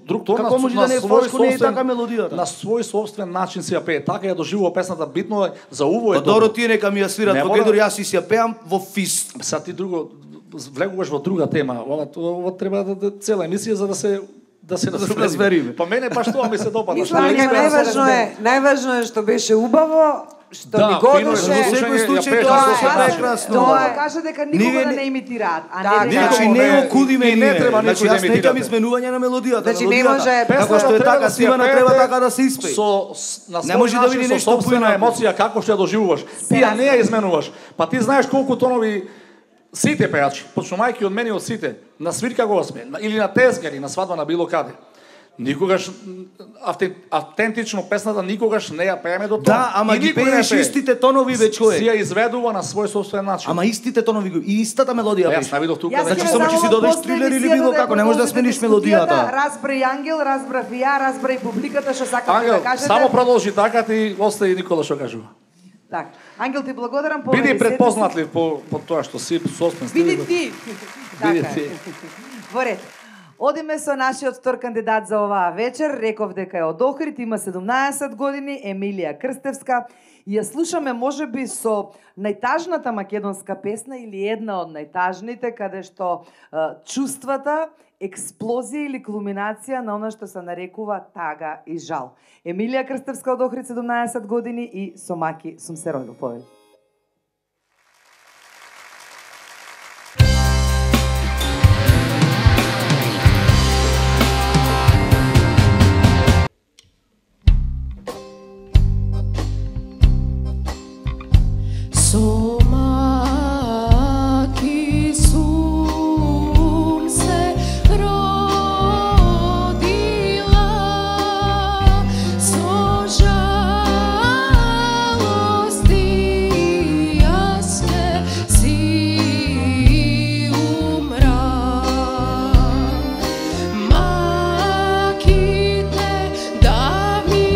друг тон. Како може да не е фалш кога не е така мелодијата? На свој собствен начин се ја пее. Така ја доживува песната, битно е за уво е. Па добро, тие нека ми ја свират во кедор, јас си ја пеам во фис. Са ти друго влегуваш во друга тема. Ова треба да цела емисија за да се разбериме. Па мене баш тоа ми се допада. Најважно е што беше убаво, што ни годеше. Во секој случај тоа е прекрасно. Тоа каже дека никога да не имитираат, а не дека Значи не окудиме не треба значи никој да јас неќам изменување на мелодијата. Значи не може како што е така снимана треба така да се испее. Не може да биде нешто собствена емоција како што ја доживуваш. Ти ја не ја изменуваш. Па ти знаеш колку тонови сите пеачи, почнувајќи од мене од сите, на свирка госпе, или на тезгари, на свадба, на било каде. Никогаш автентично песната никогаш не ја пееме до тоа. Да, ама ги пееш истите тонови ве човек. Си ја изведува на свој собствен начин. Ама истите тонови и истата мелодија пееш. Јас не видов тука. Значи само че си додеш трилер или било како, не можеш да смениш мелодијата. Разбра и Ангел, разбра и ја, разбра и публиката што сакате да кажете. Само продолжи така, ти остави Никола што кажува. Так, Ангел ти благодарам по биди предпознатлив по тоа што си собствен стил. Биди ти. Биди ти. Во ред. Одиме со нашиот втор кандидат за оваа вечер. Реков дека е од Охрид, има 17 години, Емилија Крстевска. Ја слушаме можеби со најтажната македонска песна или една од најтажните, каде што чувствата, експлозија или кулминација на она што се нарекува тага и жал. Емилија Крстевска од Охрид, 17 години и со Маки сум се родил. Повели. So Maki sum se rodila, so žalosti jaske si umra. Makite da mi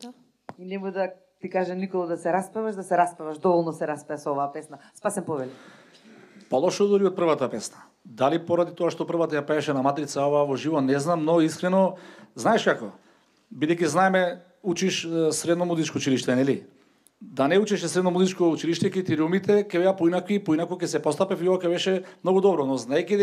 Да. И нема да ти каже Николо да се распеваш, доволно се распеа со оваа песна. Спасен Повели. Полошо дури од првата песна. Дали поради тоа што првата ја пееше на матрица, ова во живо, не знам, но искрено, знаеш како? Бидејќи знаеме, учиш средно музичко училиште, нели? Да не учеше средно музичко училиште, критериумите ќе беа поинаки ќе се постапев и ова ќе беше многу добро, но знаејќи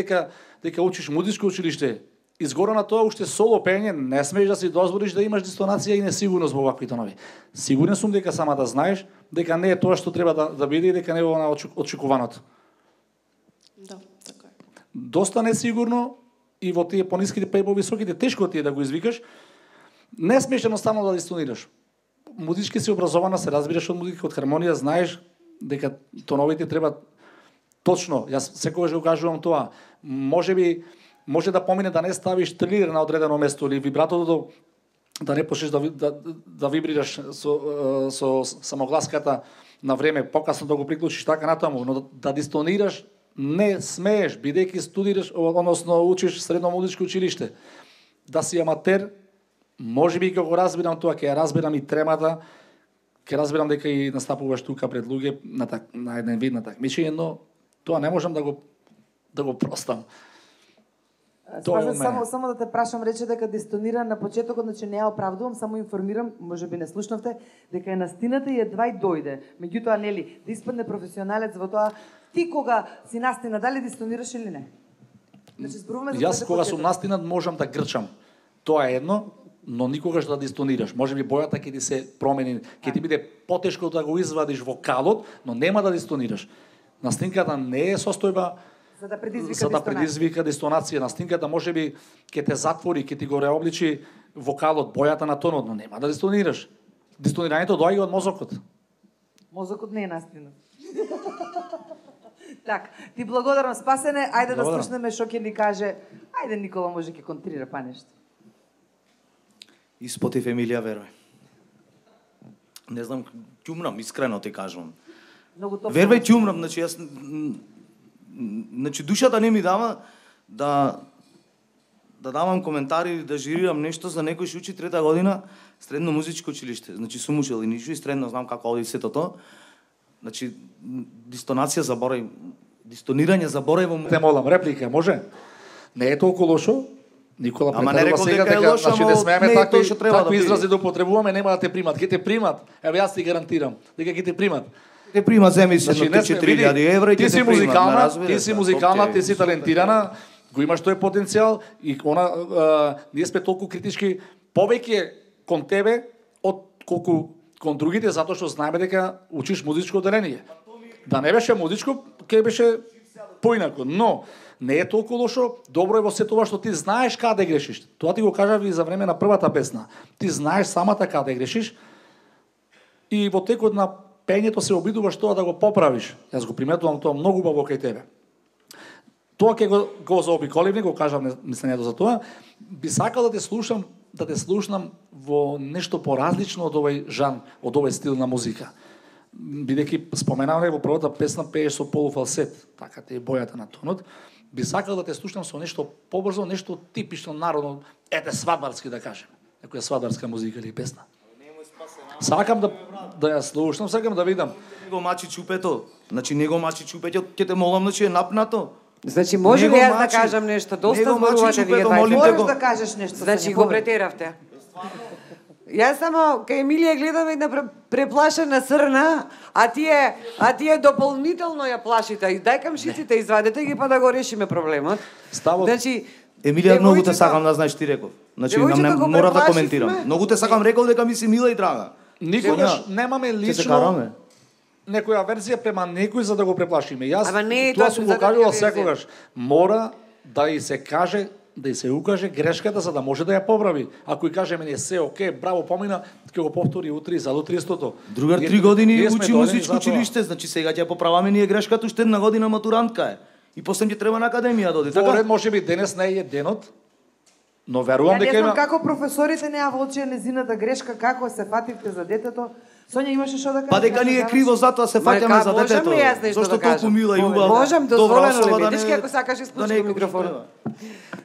дека учиш музичко училиште, изгора на тоа уште соло пење, не смееш да си дозволиш да имаш дистонација и несигурност во вакви тонови. Сигурен сум дека сама да знаеш дека не е тоа што треба да биде и дека не е она очекуваното. Да, така е. Доста несигурно и во тие пониските па и повисоките тешко ти е да го извикаш. Не смееш едноставно да дистонираш. Музички си образована, се разбираш од музика, од хармонија, знаеш дека тоновите треба точно. Јас секогаш го кажувам тоа. Може да помине да не ставиш трилер на одредено место или вибратото да не почнеш да вибрираш со самогласката на време, покасно да го приклучиш така натаму, но да дистонираш не смееш, бидејќи студираш, односно учиш средно музичко училиште. Да си аматер, можеби ќе го разбирам тоа, ќе ја разбирам и тремата, ќе разбирам дека и настапуваш тука пред луѓе на еден вид на такмичење, но тоа не можам да го простам. Само да те прашам, рече дека дистонира на почетокот, значи не ја оправдувам, само информирам, можеби не слушнавте, дека е настината и едва и дојде. Меѓутоа, нели, да испадне професионалец во тоа, ти кога си настина, дали дистонираш или не? Значи, зборуваме за јас кога сум настинат можам да грчам. Тоа е едно, но никогаш да дистонираш. Можеби бојата ќе ти се промени, ќе ти биде потешко да го извадиш вокалот, но нема да дистонираш. Настинката не е состојба За да предизвика дистонација на стинката, можеби ќе те затвори, ќе ти го реобличи вокалот, бојата на тонот, но нема да дистонираш. Дистонирањето доаѓа од мозокот. Мозокот не е настинат. Так, ти благодарам Спасене, ајде да слушнеме што ќе ни каже. Ајде Никола може ќе контрира па нешто. Испотив Емилија верој. Не знам, ќумрам, искрено ти кажувам. Вервај ќумрам, значи јас душата не ми дава да давам коментари, да жирирам нешто за некој што учи 3-та година средно музичко училиште. Значи сум учел и ништо и средно знам како оди сето тоа. Значи дистонација заборај, дистонирање заборај во. Те молам, реплика може? Не е толку лошо. Никола претарува сега дека дека значи не смееме такви изрази да употребуваме, нема да те примат. Ќе те примат. Еве јас ти гарантирам дека ќе те примат. Те примат, земи се до 4.000 евра и ќе те примат. Ти си музикална, ти си талентирана, го имаш тој потенцијал и ние сме толку критички повеќе кон тебе од колку кон другите, затоа што знаеме дека учиш музичко одделение. Да не беше музичко, ќе беше поинако, но не е толку лошо, добро е во се тоа што ти знаеш каде грешиш. Тоа ти го кажав и за време на првата песна. Ти знаеш самата каде грешиш и во текот на пењето се обидуваш тоа да го поправиш. Јас го приметувам тоа многу убаво кај тебе. Тоа ќе го заобиколив, не го кажав мислењето за тоа. Би сакал да те слушнам во нешто поразлично од овој жан, од овој стил на музика. Бидејќи споменаваме во првата песна пееш со полуфалсет, така те е бојата на тонот. Би сакал да те слушнам со нешто побрзо, нешто типично народно, ете свадбарски да кажем. Некоја свадбарска музика или песна. Сакам да ја слушнам, сакам да видам. Него мачи чупето. Значи него мачи чупето, ќе те молам, значи е напнато. Значи може ли јас да кажам нешто? Доста зборувате вие двајца. Можеш да кажеш нешто. Значи го претеравте. Јас само кај Емилија гледам една преплашена срна, а тие дополнително ја плашите. Дај камшиците, извадете ги па да го решиме проблемот. Значи Емилија, многу те сакам, да знаеш, ти реков. Значи мора да коментирам. Многу те сакам, реков дека ми си мила и драга. Никогаш немаме лично некоја верзија према некој за да го преплашиме. Јас тоа сум го кажувал секогаш. Мора да и се каже, да и се укаже грешката за да може да ја поправи. Ако и кажеме не се оке, браво, помина, ќе го повтори утре за до 300-то. Другар 3 години учи музичко училиште, значи сега ќе поправаме ние грешката, уште една година матурантка е. И после ќе треба на академија да оди, така? Поред можеби денес не е денот, но верувам дека има. Не знам како професорите не ја волчија незината грешка, како се фативте за детето. Сонја имаше што да кажеш? Па дека ни е криво затоа се фаќаме за детето. Зошто толку мила и убава. Можам, дозволено ли? Видиш како сакаш исклучи микрофонот.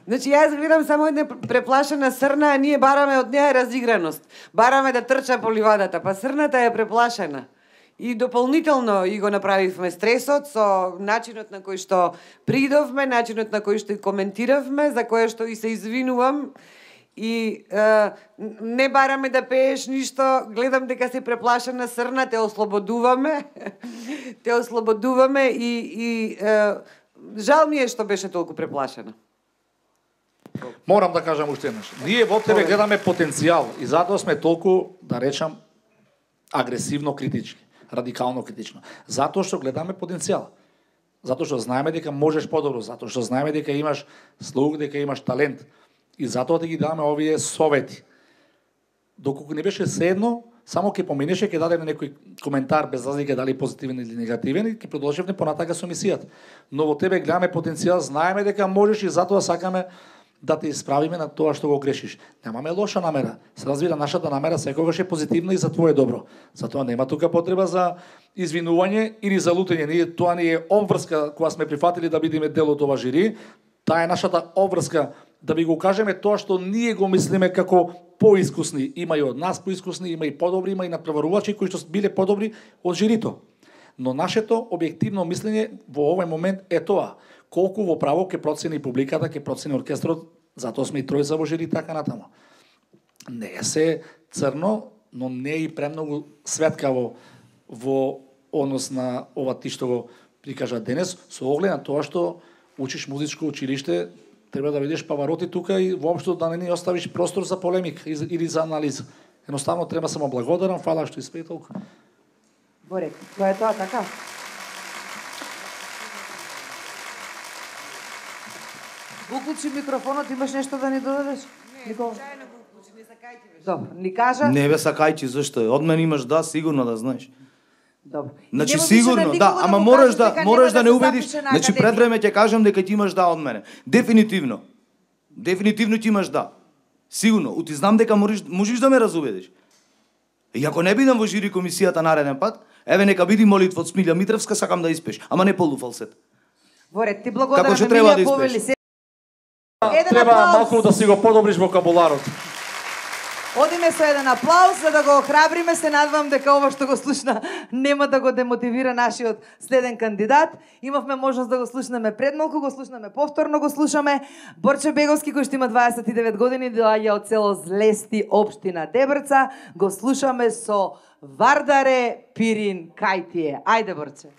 Значи јас гледам само една преплашена срна, а ние бараме од неја разиграност. Бараме да трча по ливадата, па срната е преплашена. И дополнително и го направивме стресот со начинот на кој што придовме, начинот на кој што и коментиравме, за кое што и се извинувам. И не бараме да пееш ништо, гледам дека си преплашена срна, те ослободуваме. Те ослободуваме и жал ми е што беше толку преплашена. Морам да кажам уште еднаш. Ние во тебе гледаме потенцијал и затоа сме толку, да речам, агресивно критички, радикално критично. Затоа што гледаме потенцијал. Затоа што знаеме дека можеш подобро, затоа што знаеме дека имаш слух, дека имаш талент. И затоа ти ги даваме овие совети. Доколку не беше седно, само ќе поменеше, ќе дадеме некој коментар без разлика дали позитивен или негативен и ќе продолжиме понатака со мисијата. Но во тебе гледаме потенцијал, знаеме дека можеш и затоа сакаме да те исправиме на тоа што го грешиш. Немаме лоша намера. Се разбира, нашата намера секогаш е позитивна и за твое добро. Затоа нема тука потреба за извинување или за лутење. Тоа не е обврска кога сме прифатили да бидеме дел од ова жири. Таа е нашата обврска да ви го кажеме тоа што ние го мислиме како поискусни. Има и од нас поискусни, има и подобри, има и натпреварувачи кои што биле подобри од жирито. Но нашето објективно мислење во овој момент е тоа. Колку во право ќе процени публиката, ќе процени оркестрот, затоа сме и тројца во жири така натаму. Не е се црно, но не е и премногу светкаво во однос на ова ти што го прикажа денес, со оглед на тоа што учиш музичко училиште, треба да видиш павароти тука и воопшто да не ни оставиш простор за полемика или за анализа. Едноставно треба само благодарам, фала што испеј толку. Борек, тоа е тоа така? Уклучи микрофонот, имаш нешто да ни додадеш? Никола? Добро, ни кажа. Не бе сакајчи, зашто е? Од мене имаш да, сигурно да знаеш. Добро. Значи сигурно, да, ама мораш да не убедиш. Значи пред време ќе кажам дека ти имаш да од мене. Дефинитивно. Дефинитивно ти имаш да. Сигурно, ти знам дека можеш да ме разубедиш. И ако не бидам во жири комисијата нареден пат, еве нека биди молитва од Смилја Митревска, сакам да испеш, ама не полуфалсет. Во ред, ти благодарам Како што треба да Емилија Повели. испеш. Треба малку да си го подобриш вокабуларот. Одиме со еден аплауз за да го охрабриме, се надевам дека ова што го слушна нема да го демотивира нашиот следен кандидат. Имавме можност да го слушнеме пред малку, го слушнеме повторно, го слушаме. Борче Беговски, кој што има 29 години, доаѓа од село Злести, општина Дебрца, го слушаме со Вардаре Пирин Кајтие. Ајде, Борче.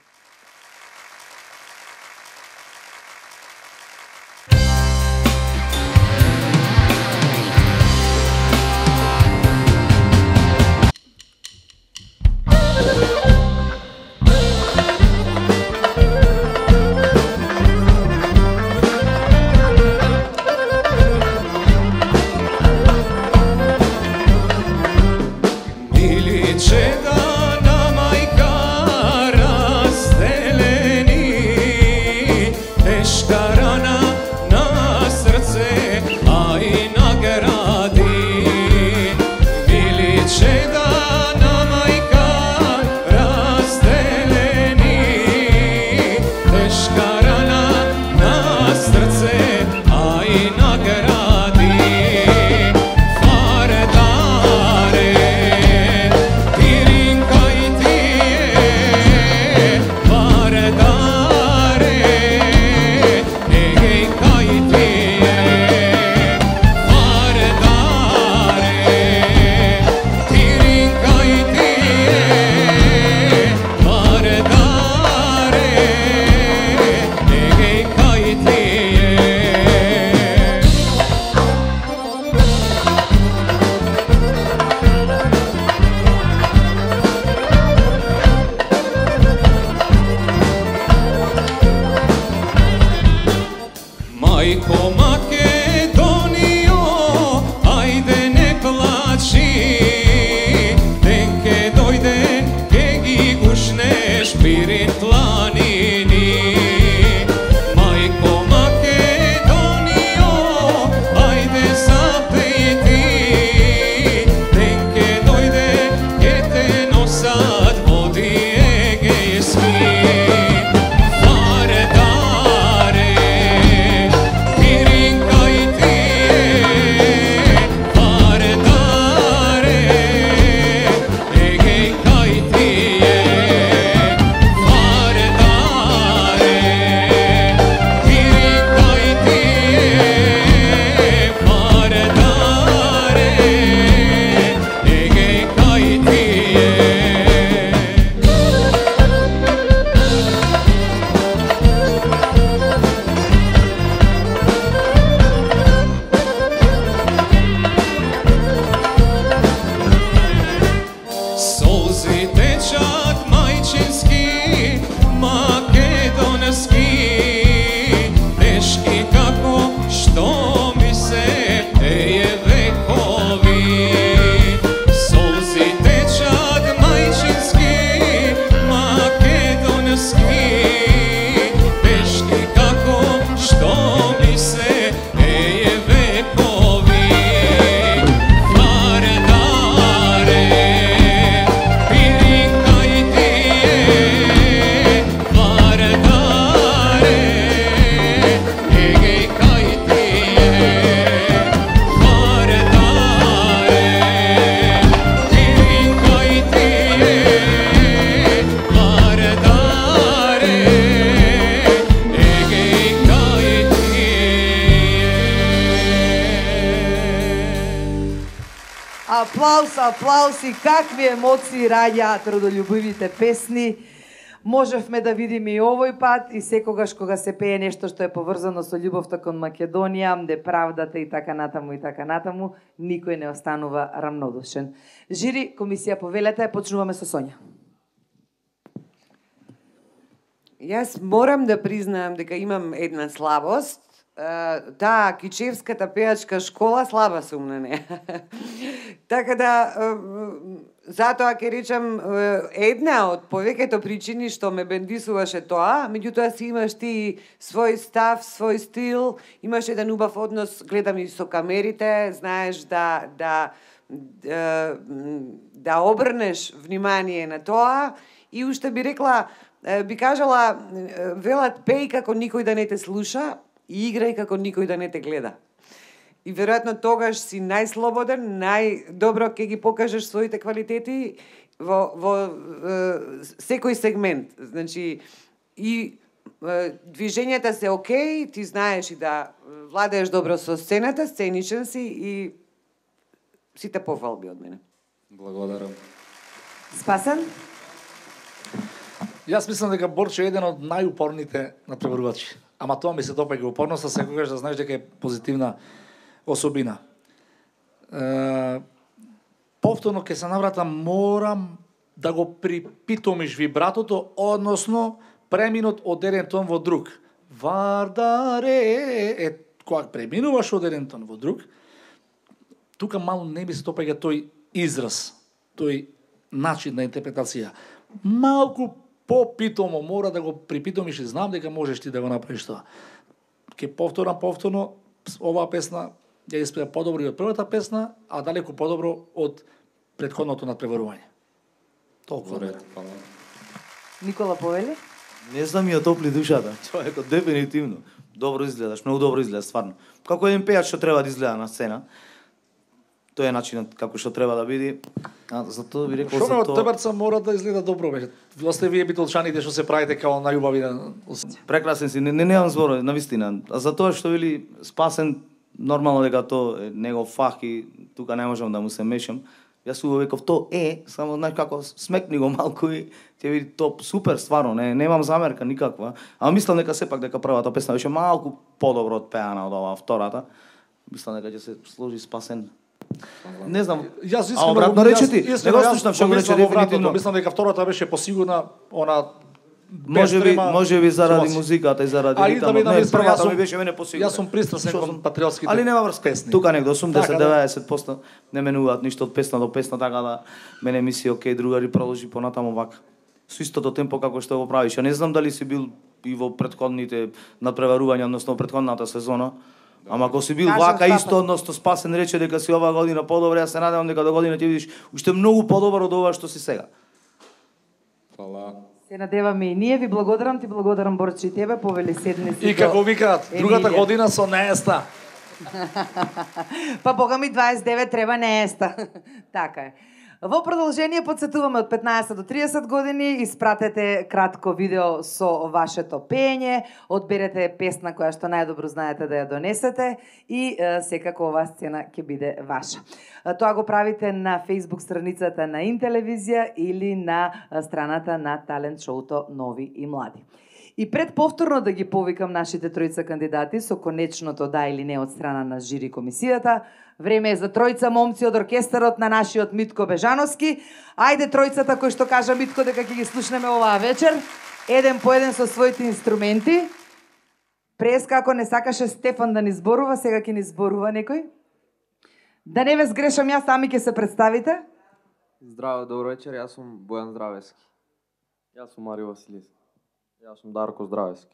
Аплауз и какви емоции раѓаат родолюбивите песни. Можевме да видиме и овој пат и секогаш кога се пее нешто што е поврзано со љубовта кон Македонија, де правдата и така натаму, никој не останува рамнодушен. Жири, комисија повелете, почнуваме со Сонја. Јас морам да признаам дека имам една слабост таа кичевската пеачка школа слаба сум на неа. Така да затоа ќе речам една од повеќето причини што ме бендисуваше тоа, меѓутоа си имаш ти свој став, свој стил, имаш еден убав однос, гледам и со камерите, знаеш да обрнеш внимание на тоа и уште би рекла, би кажала, велат пеј како никој да не те слуша и играј како никој да не те гледа. И веројатно тогаш си најслободен, најдобро ќе ги покажеш своите квалитети во секој сегмент. Значи, и движењата се окей, ти знаеш и да владееш добро со сцената, сценичен си и сите пофалби од мене. Благодарам. Спасен? Јас мислам дека Борче е еден од најупорните натпреварувачи. Ама тоа ми се допаѓа упорноста, секогаш да знаеш дека е позитивна особина. Повторно ќе се навратам, морам да го припитомиш вибратото, односно преминот од еден тон во друг. Вардаре, кога преминуваш од еден тон во друг, тука мало не ми се допаѓа тој израз, тој начин на интерпретација. Малку попитомо мора да го припитомиш и знам дека можеш ти да го направиш тоа. Ке повторно, оваа песна ја испеа подобро и од првата песна, а далеку подобро од претходното надпреварување. Толку ред. Никола Повели? Не знам, ја топли душата. Човекот дефинитивно добро изгледаш, многу добро изгледаш стварно. Како еден пејач што треба да изгледа на сцена. Тоа е начинот како што треба да биде. А затоа би рекол Шоме од Тебарца мора да изгледа добро, бе. Осте вие битолчаните што се правите као најубави на... Прекрасен си, немам зборови, навистина. А затоа што вели Спасен, нормално дека тоа е негов фах и тука не можам да му се мешам. Јас убаво викав тоа само знаеш како смекни го малку и ќе види топ супер стварно, немам замерка никаква. А мислам дека сепак дека првата песна беше малку подобро од пеана од оваа втората. Мислам дека ќе се сложи Спасен. Не знам. Јас искрено обратно рече ти. Не го слушнав што го рече дефинитивно. Мислам дека втората беше посигурна, она може би заради музиката и заради ритмот. Не, првата ми беше мене посигурна. Јас сум пристрасен кон патриотските. Али нема врска. Тука негде 80-90% не менуваат ништо од песна до песна, така да мене ми си окей, другари продолжи понатаму вака. Со истото темпо како што го правиш. Ја не знам дали си бил и во претходните надпреварувања, односно претходната сезона. Ама ако си бил вака исто, односно Спасен рече дека си оваа година подобро, јас се надевам дека до година ќе видиш уште многу подобро од ова што си сега. Фала. Се надеваме и ние, ви благодарам, ти благодарам Борче и тебе, Повели седни си. И како викаат, другата година со нееста. Па бога ми 29 треба нееста. Така е. Во продолжение подсетуваме од 15 до 30 години, испратете кратко видео со вашето пење, одберете песна која што најдобро знаете да ја донесете и секако оваа сцена ќе биде ваша. Тоа го правите на Facebook страницата на Интелевизија или на страната на талент шоуто Нови и млади. И пред повторно да ги повикам нашите тројца кандидати со конечното да или не од страна на жири комисијата, време е за тројца момци од оркестарот на нашиот Митко Бежановски. Ајде тројцата кои што кажа Митко дека ќе ги слушнеме оваа вечер, еден по еден со своите инструменти. Прес како не сакаше Стефан да ни зборува, сега ќе ни зборува некој. Да не ве сгрешам јас, сами ќе се представите. Здраво, добро вечер, јас сум Бојан Здравески. Јас сум Марио Василиски. Јас сум Дарко Здравески.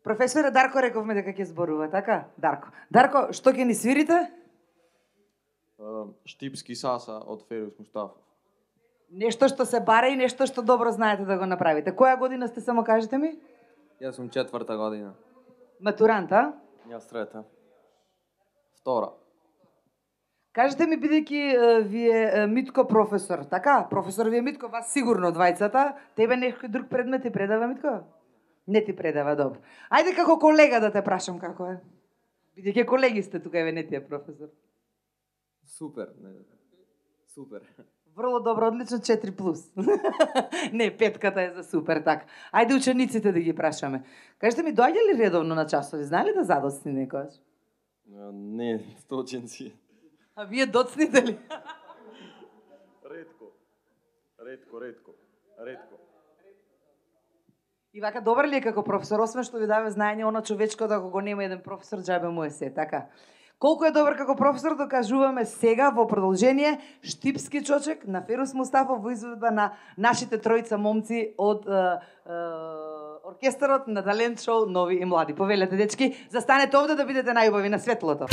Професоре Дарко рековме дека ќе зборува, така? Дарко. Дарко, што ќе ни свирите? Штипски саса од Ферус Мустафов. Нешто што се бара и нешто што добро знаете да го направите. Која година сте, само кажете ми? Јас сум 4-та година. Матурант, а? Јас 3-та. 2-ра. Кажете ми, бидејќи вие Митко професор, така? Професор вие Митко, вас сигурно двајцата. Тебе некој друг предмет ти предава, Митко? Не ти предава, добро. Ајде како колега да те прашам како е. Бидејќи колеги сте тука, еве не ти е професор. Супер, супер. Врло добро, одлично 4+. Не, петката е за супер, така. Ајде учениците да ги прашаме. Кажете ми, доаѓа ли редовно на часови? Знае ли да задоцни некојаш? Не, сточенци. А вие доцните ли? Ретко. И вака добар ли е како професор, освен што ви даде знаење, она човечко да го нема еден професор, џабе му е се, така. Колку е добар како професор, докажуваме сега во продолжение Штипски чочек на Ферус Мустафов во изведба на нашите тројца момци од оркестарот на талент шоу Нови и млади. Повелете, дечки, застанете овде да бидете најубави на светлото.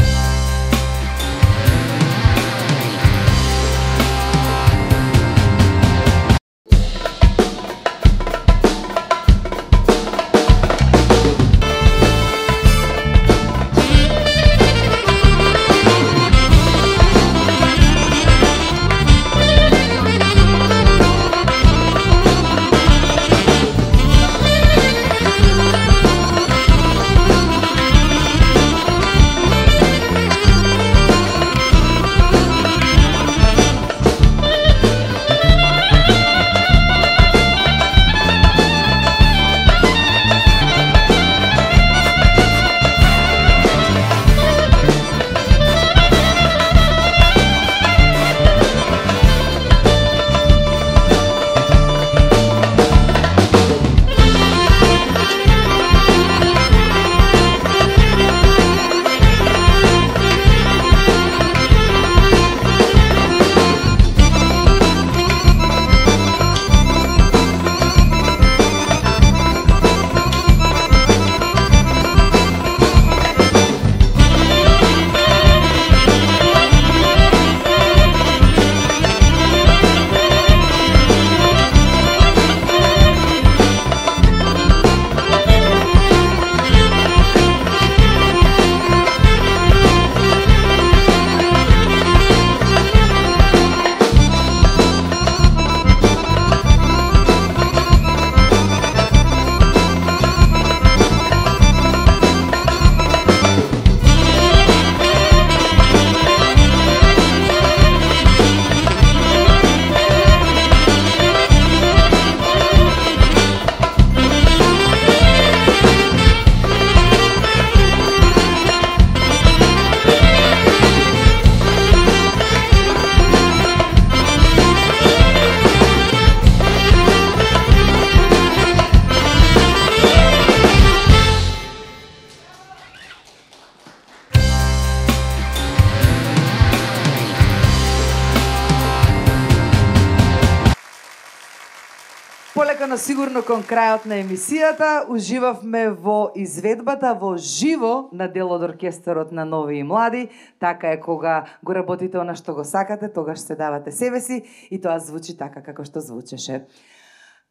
Полека, но сигурно кон крајот на емисијата, уживавме во изведбата во живо на дел од оркестарот на Нови и млади. Така е кога го работите она што го сакате, тогаш се давате себе си и тоа звучи така како што звучеше.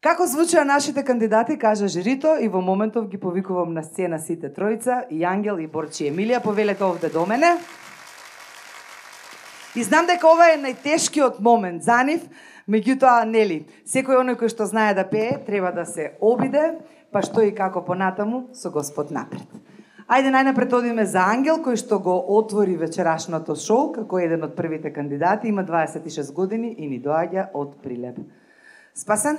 Како звучеа нашите кандидати, кажа жирито и во моментов ги повикувам на сцена сите тројца, и Ангел и Борчи Емилија, повелете овде до мене. И знам дека ова е најтешкиот момент за нив, меѓутоа, нели, секој оној кој што знае да пее, треба да се обиде, па што и како понатаму, со Господ напред. Ајде најнапред одиме за Ангел, кој што го отвори вечерашното шоу, како еден од првите кандидати, има 26 години и ни доаѓа од Прилеп. Спасен?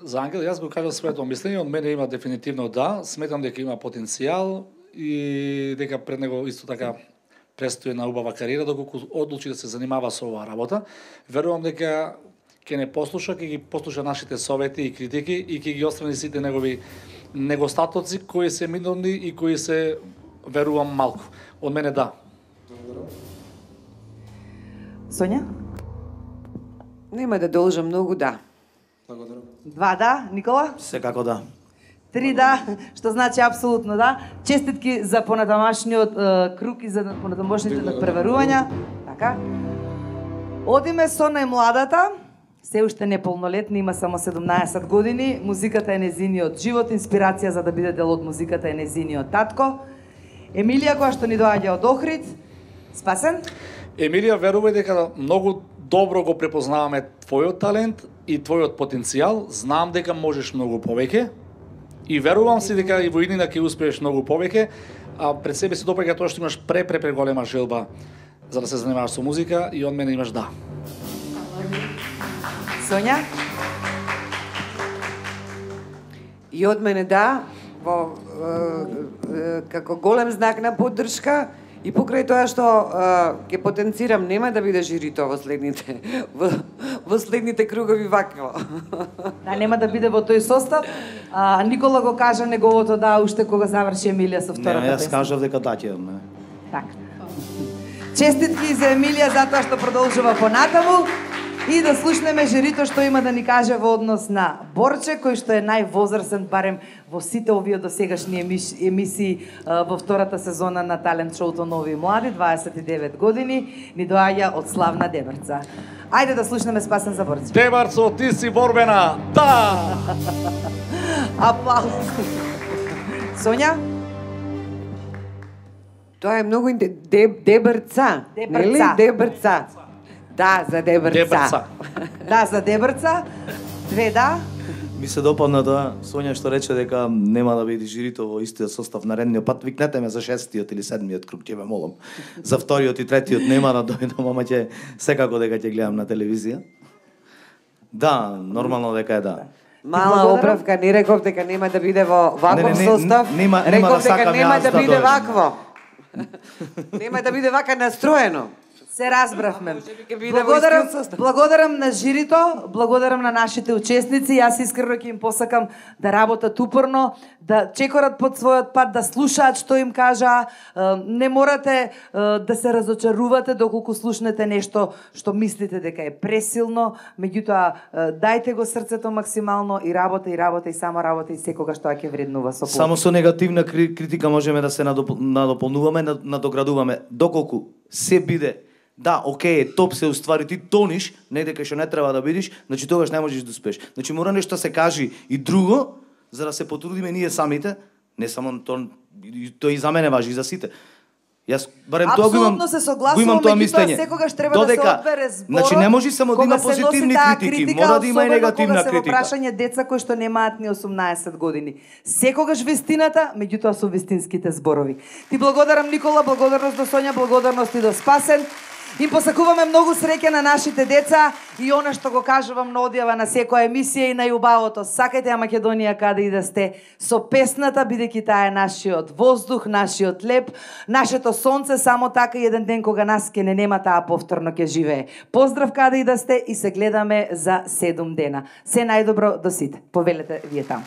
За Ангел, јас го кажав своето мислење, од мене има дефинитивно да, сметам дека има потенцијал и дека пред него исто така престои една убава кариера, доколку одлучи да се занимава со оваа работа. Верувам дека ќе не послуша, ќе ги послуша нашите совети и критики и ќе ги отстрани сите негови недостатоци кои се минорни и кои се, верувам, малку. Од мене да. Сонја? Нема да должам многу да. Благодарам. 2 да, Никола? Секако да. 3 да, што значи апсолутно да. Честитки за понатамашниот круг и за понатамошните надпреварувања. Така. Одиме со најмладата, се уште неполнолетна, има само 17 години. Музиката е незиниот живот, инспирација за да биде дел од музиката е незиниот татко. Емилија, која што ни доаѓа од Охрид. Спасен? Емилија, верувај дека многу добро го препознаваме твојот талент и твојот потенцијал. Знам дека можеш многу повеќе. И верувам си дека и во иднина ќе успееш многу повеќе, а пред себе си допаѓа тоа што имаш преголема желба за да се занимаваш со музика и од мене имаш да. Сонја? И од мене да, како голем знак на поддршка И покрај тоа што ќе потенцирам, нема да биде жирито во следните во следните кругови вакво. Да, нема да биде во тој состав. Никола го кажа неговото да уште кога заврши Емилија со втората Не, јас песна. кажав дека да ќе имаме. Така. Честитки за Емилија затоа што продолжува понатаму и да слушнеме жирито што има да ни каже во однос на Борче, кој што е највозрасен барем во сите овие досегашни емисии во втората сезона на талент шоуто Нови и млади, 29 години, ни доаѓа од славна Дебрца. Ајде да слушнеме Спасен за Борче. Дебарцо, ти си борбена. Да! Аплауз. Сонја? Тоа е многу Дебрца. Нели? Дебрца. Да, за Дебрца. Дебрца. Да, за Дебрца. Две да. Ми се допадна тоа Сонја што рече дека нема да биде жирито во истиот состав наредниот пат. Викнете ме за 6-тиот или 7-миот круг, ќе ве молам. За вториот и третиот нема да дојдам, ама ќе секако дека ќе гледам на телевизија. Да, нормално дека е да. Мала оправка, не реков дека нема да биде во ваков состав. Нема да Реков дека сакам нема јас да да биде дојдам. вакво. Нема да биде вака настроено. Се разбравме. Ќе биде во истиот состав. Благодарам на жирито, благодарам на нашите учесници. Јас искрено ќе им посакам да работат упорно, да чекорат под својот пат, да слушаат што им кажа. Не морате да се разочарувате доколку слушнете нешто што мислите дека е пресилно, меѓутоа дајте го срцето максимално и работа и само работа и секогаш тоа ќе вреднува со полу. Само со негативна критика можеме да се надополнуваме, надоградуваме. Доколку се биде да, окей, топ се уствари, ти тониш, негде кај што не треба да бидиш, значи тогаш не можеш да успееш. Значи мора нешто се кажи и друго, за да се потрудиме ние самите, не само тоа и за мене важи, и за сите. Јас барем тоа го имам. Апсолутно се согласувам, меѓутоа секогаш треба да се одбере зборот. Значи не може само да има позитивни критики, мора да има и негативна критика. Кога се во прашање деца кои што немаат ни 18 години. Секогаш вистината, меѓутоа со вистинските зборови. Ти благодарам Никола, благодарност до Сонја, благодарност и до Спасен. Им посакуваме многу среќа на нашите деца и она што го кажувам на одјава на секоја емисија и најубавото. Сакајте ја Македонија каде и да сте со песната, бидејќи таа е нашиот воздух, нашиот леп, нашето сонце, само така еден ден кога нас ке не нема таа повторно ќе живее. Поздрав каде и да сте и се гледаме за 7 дена. Се најдобро до сите. Повелете вие таму.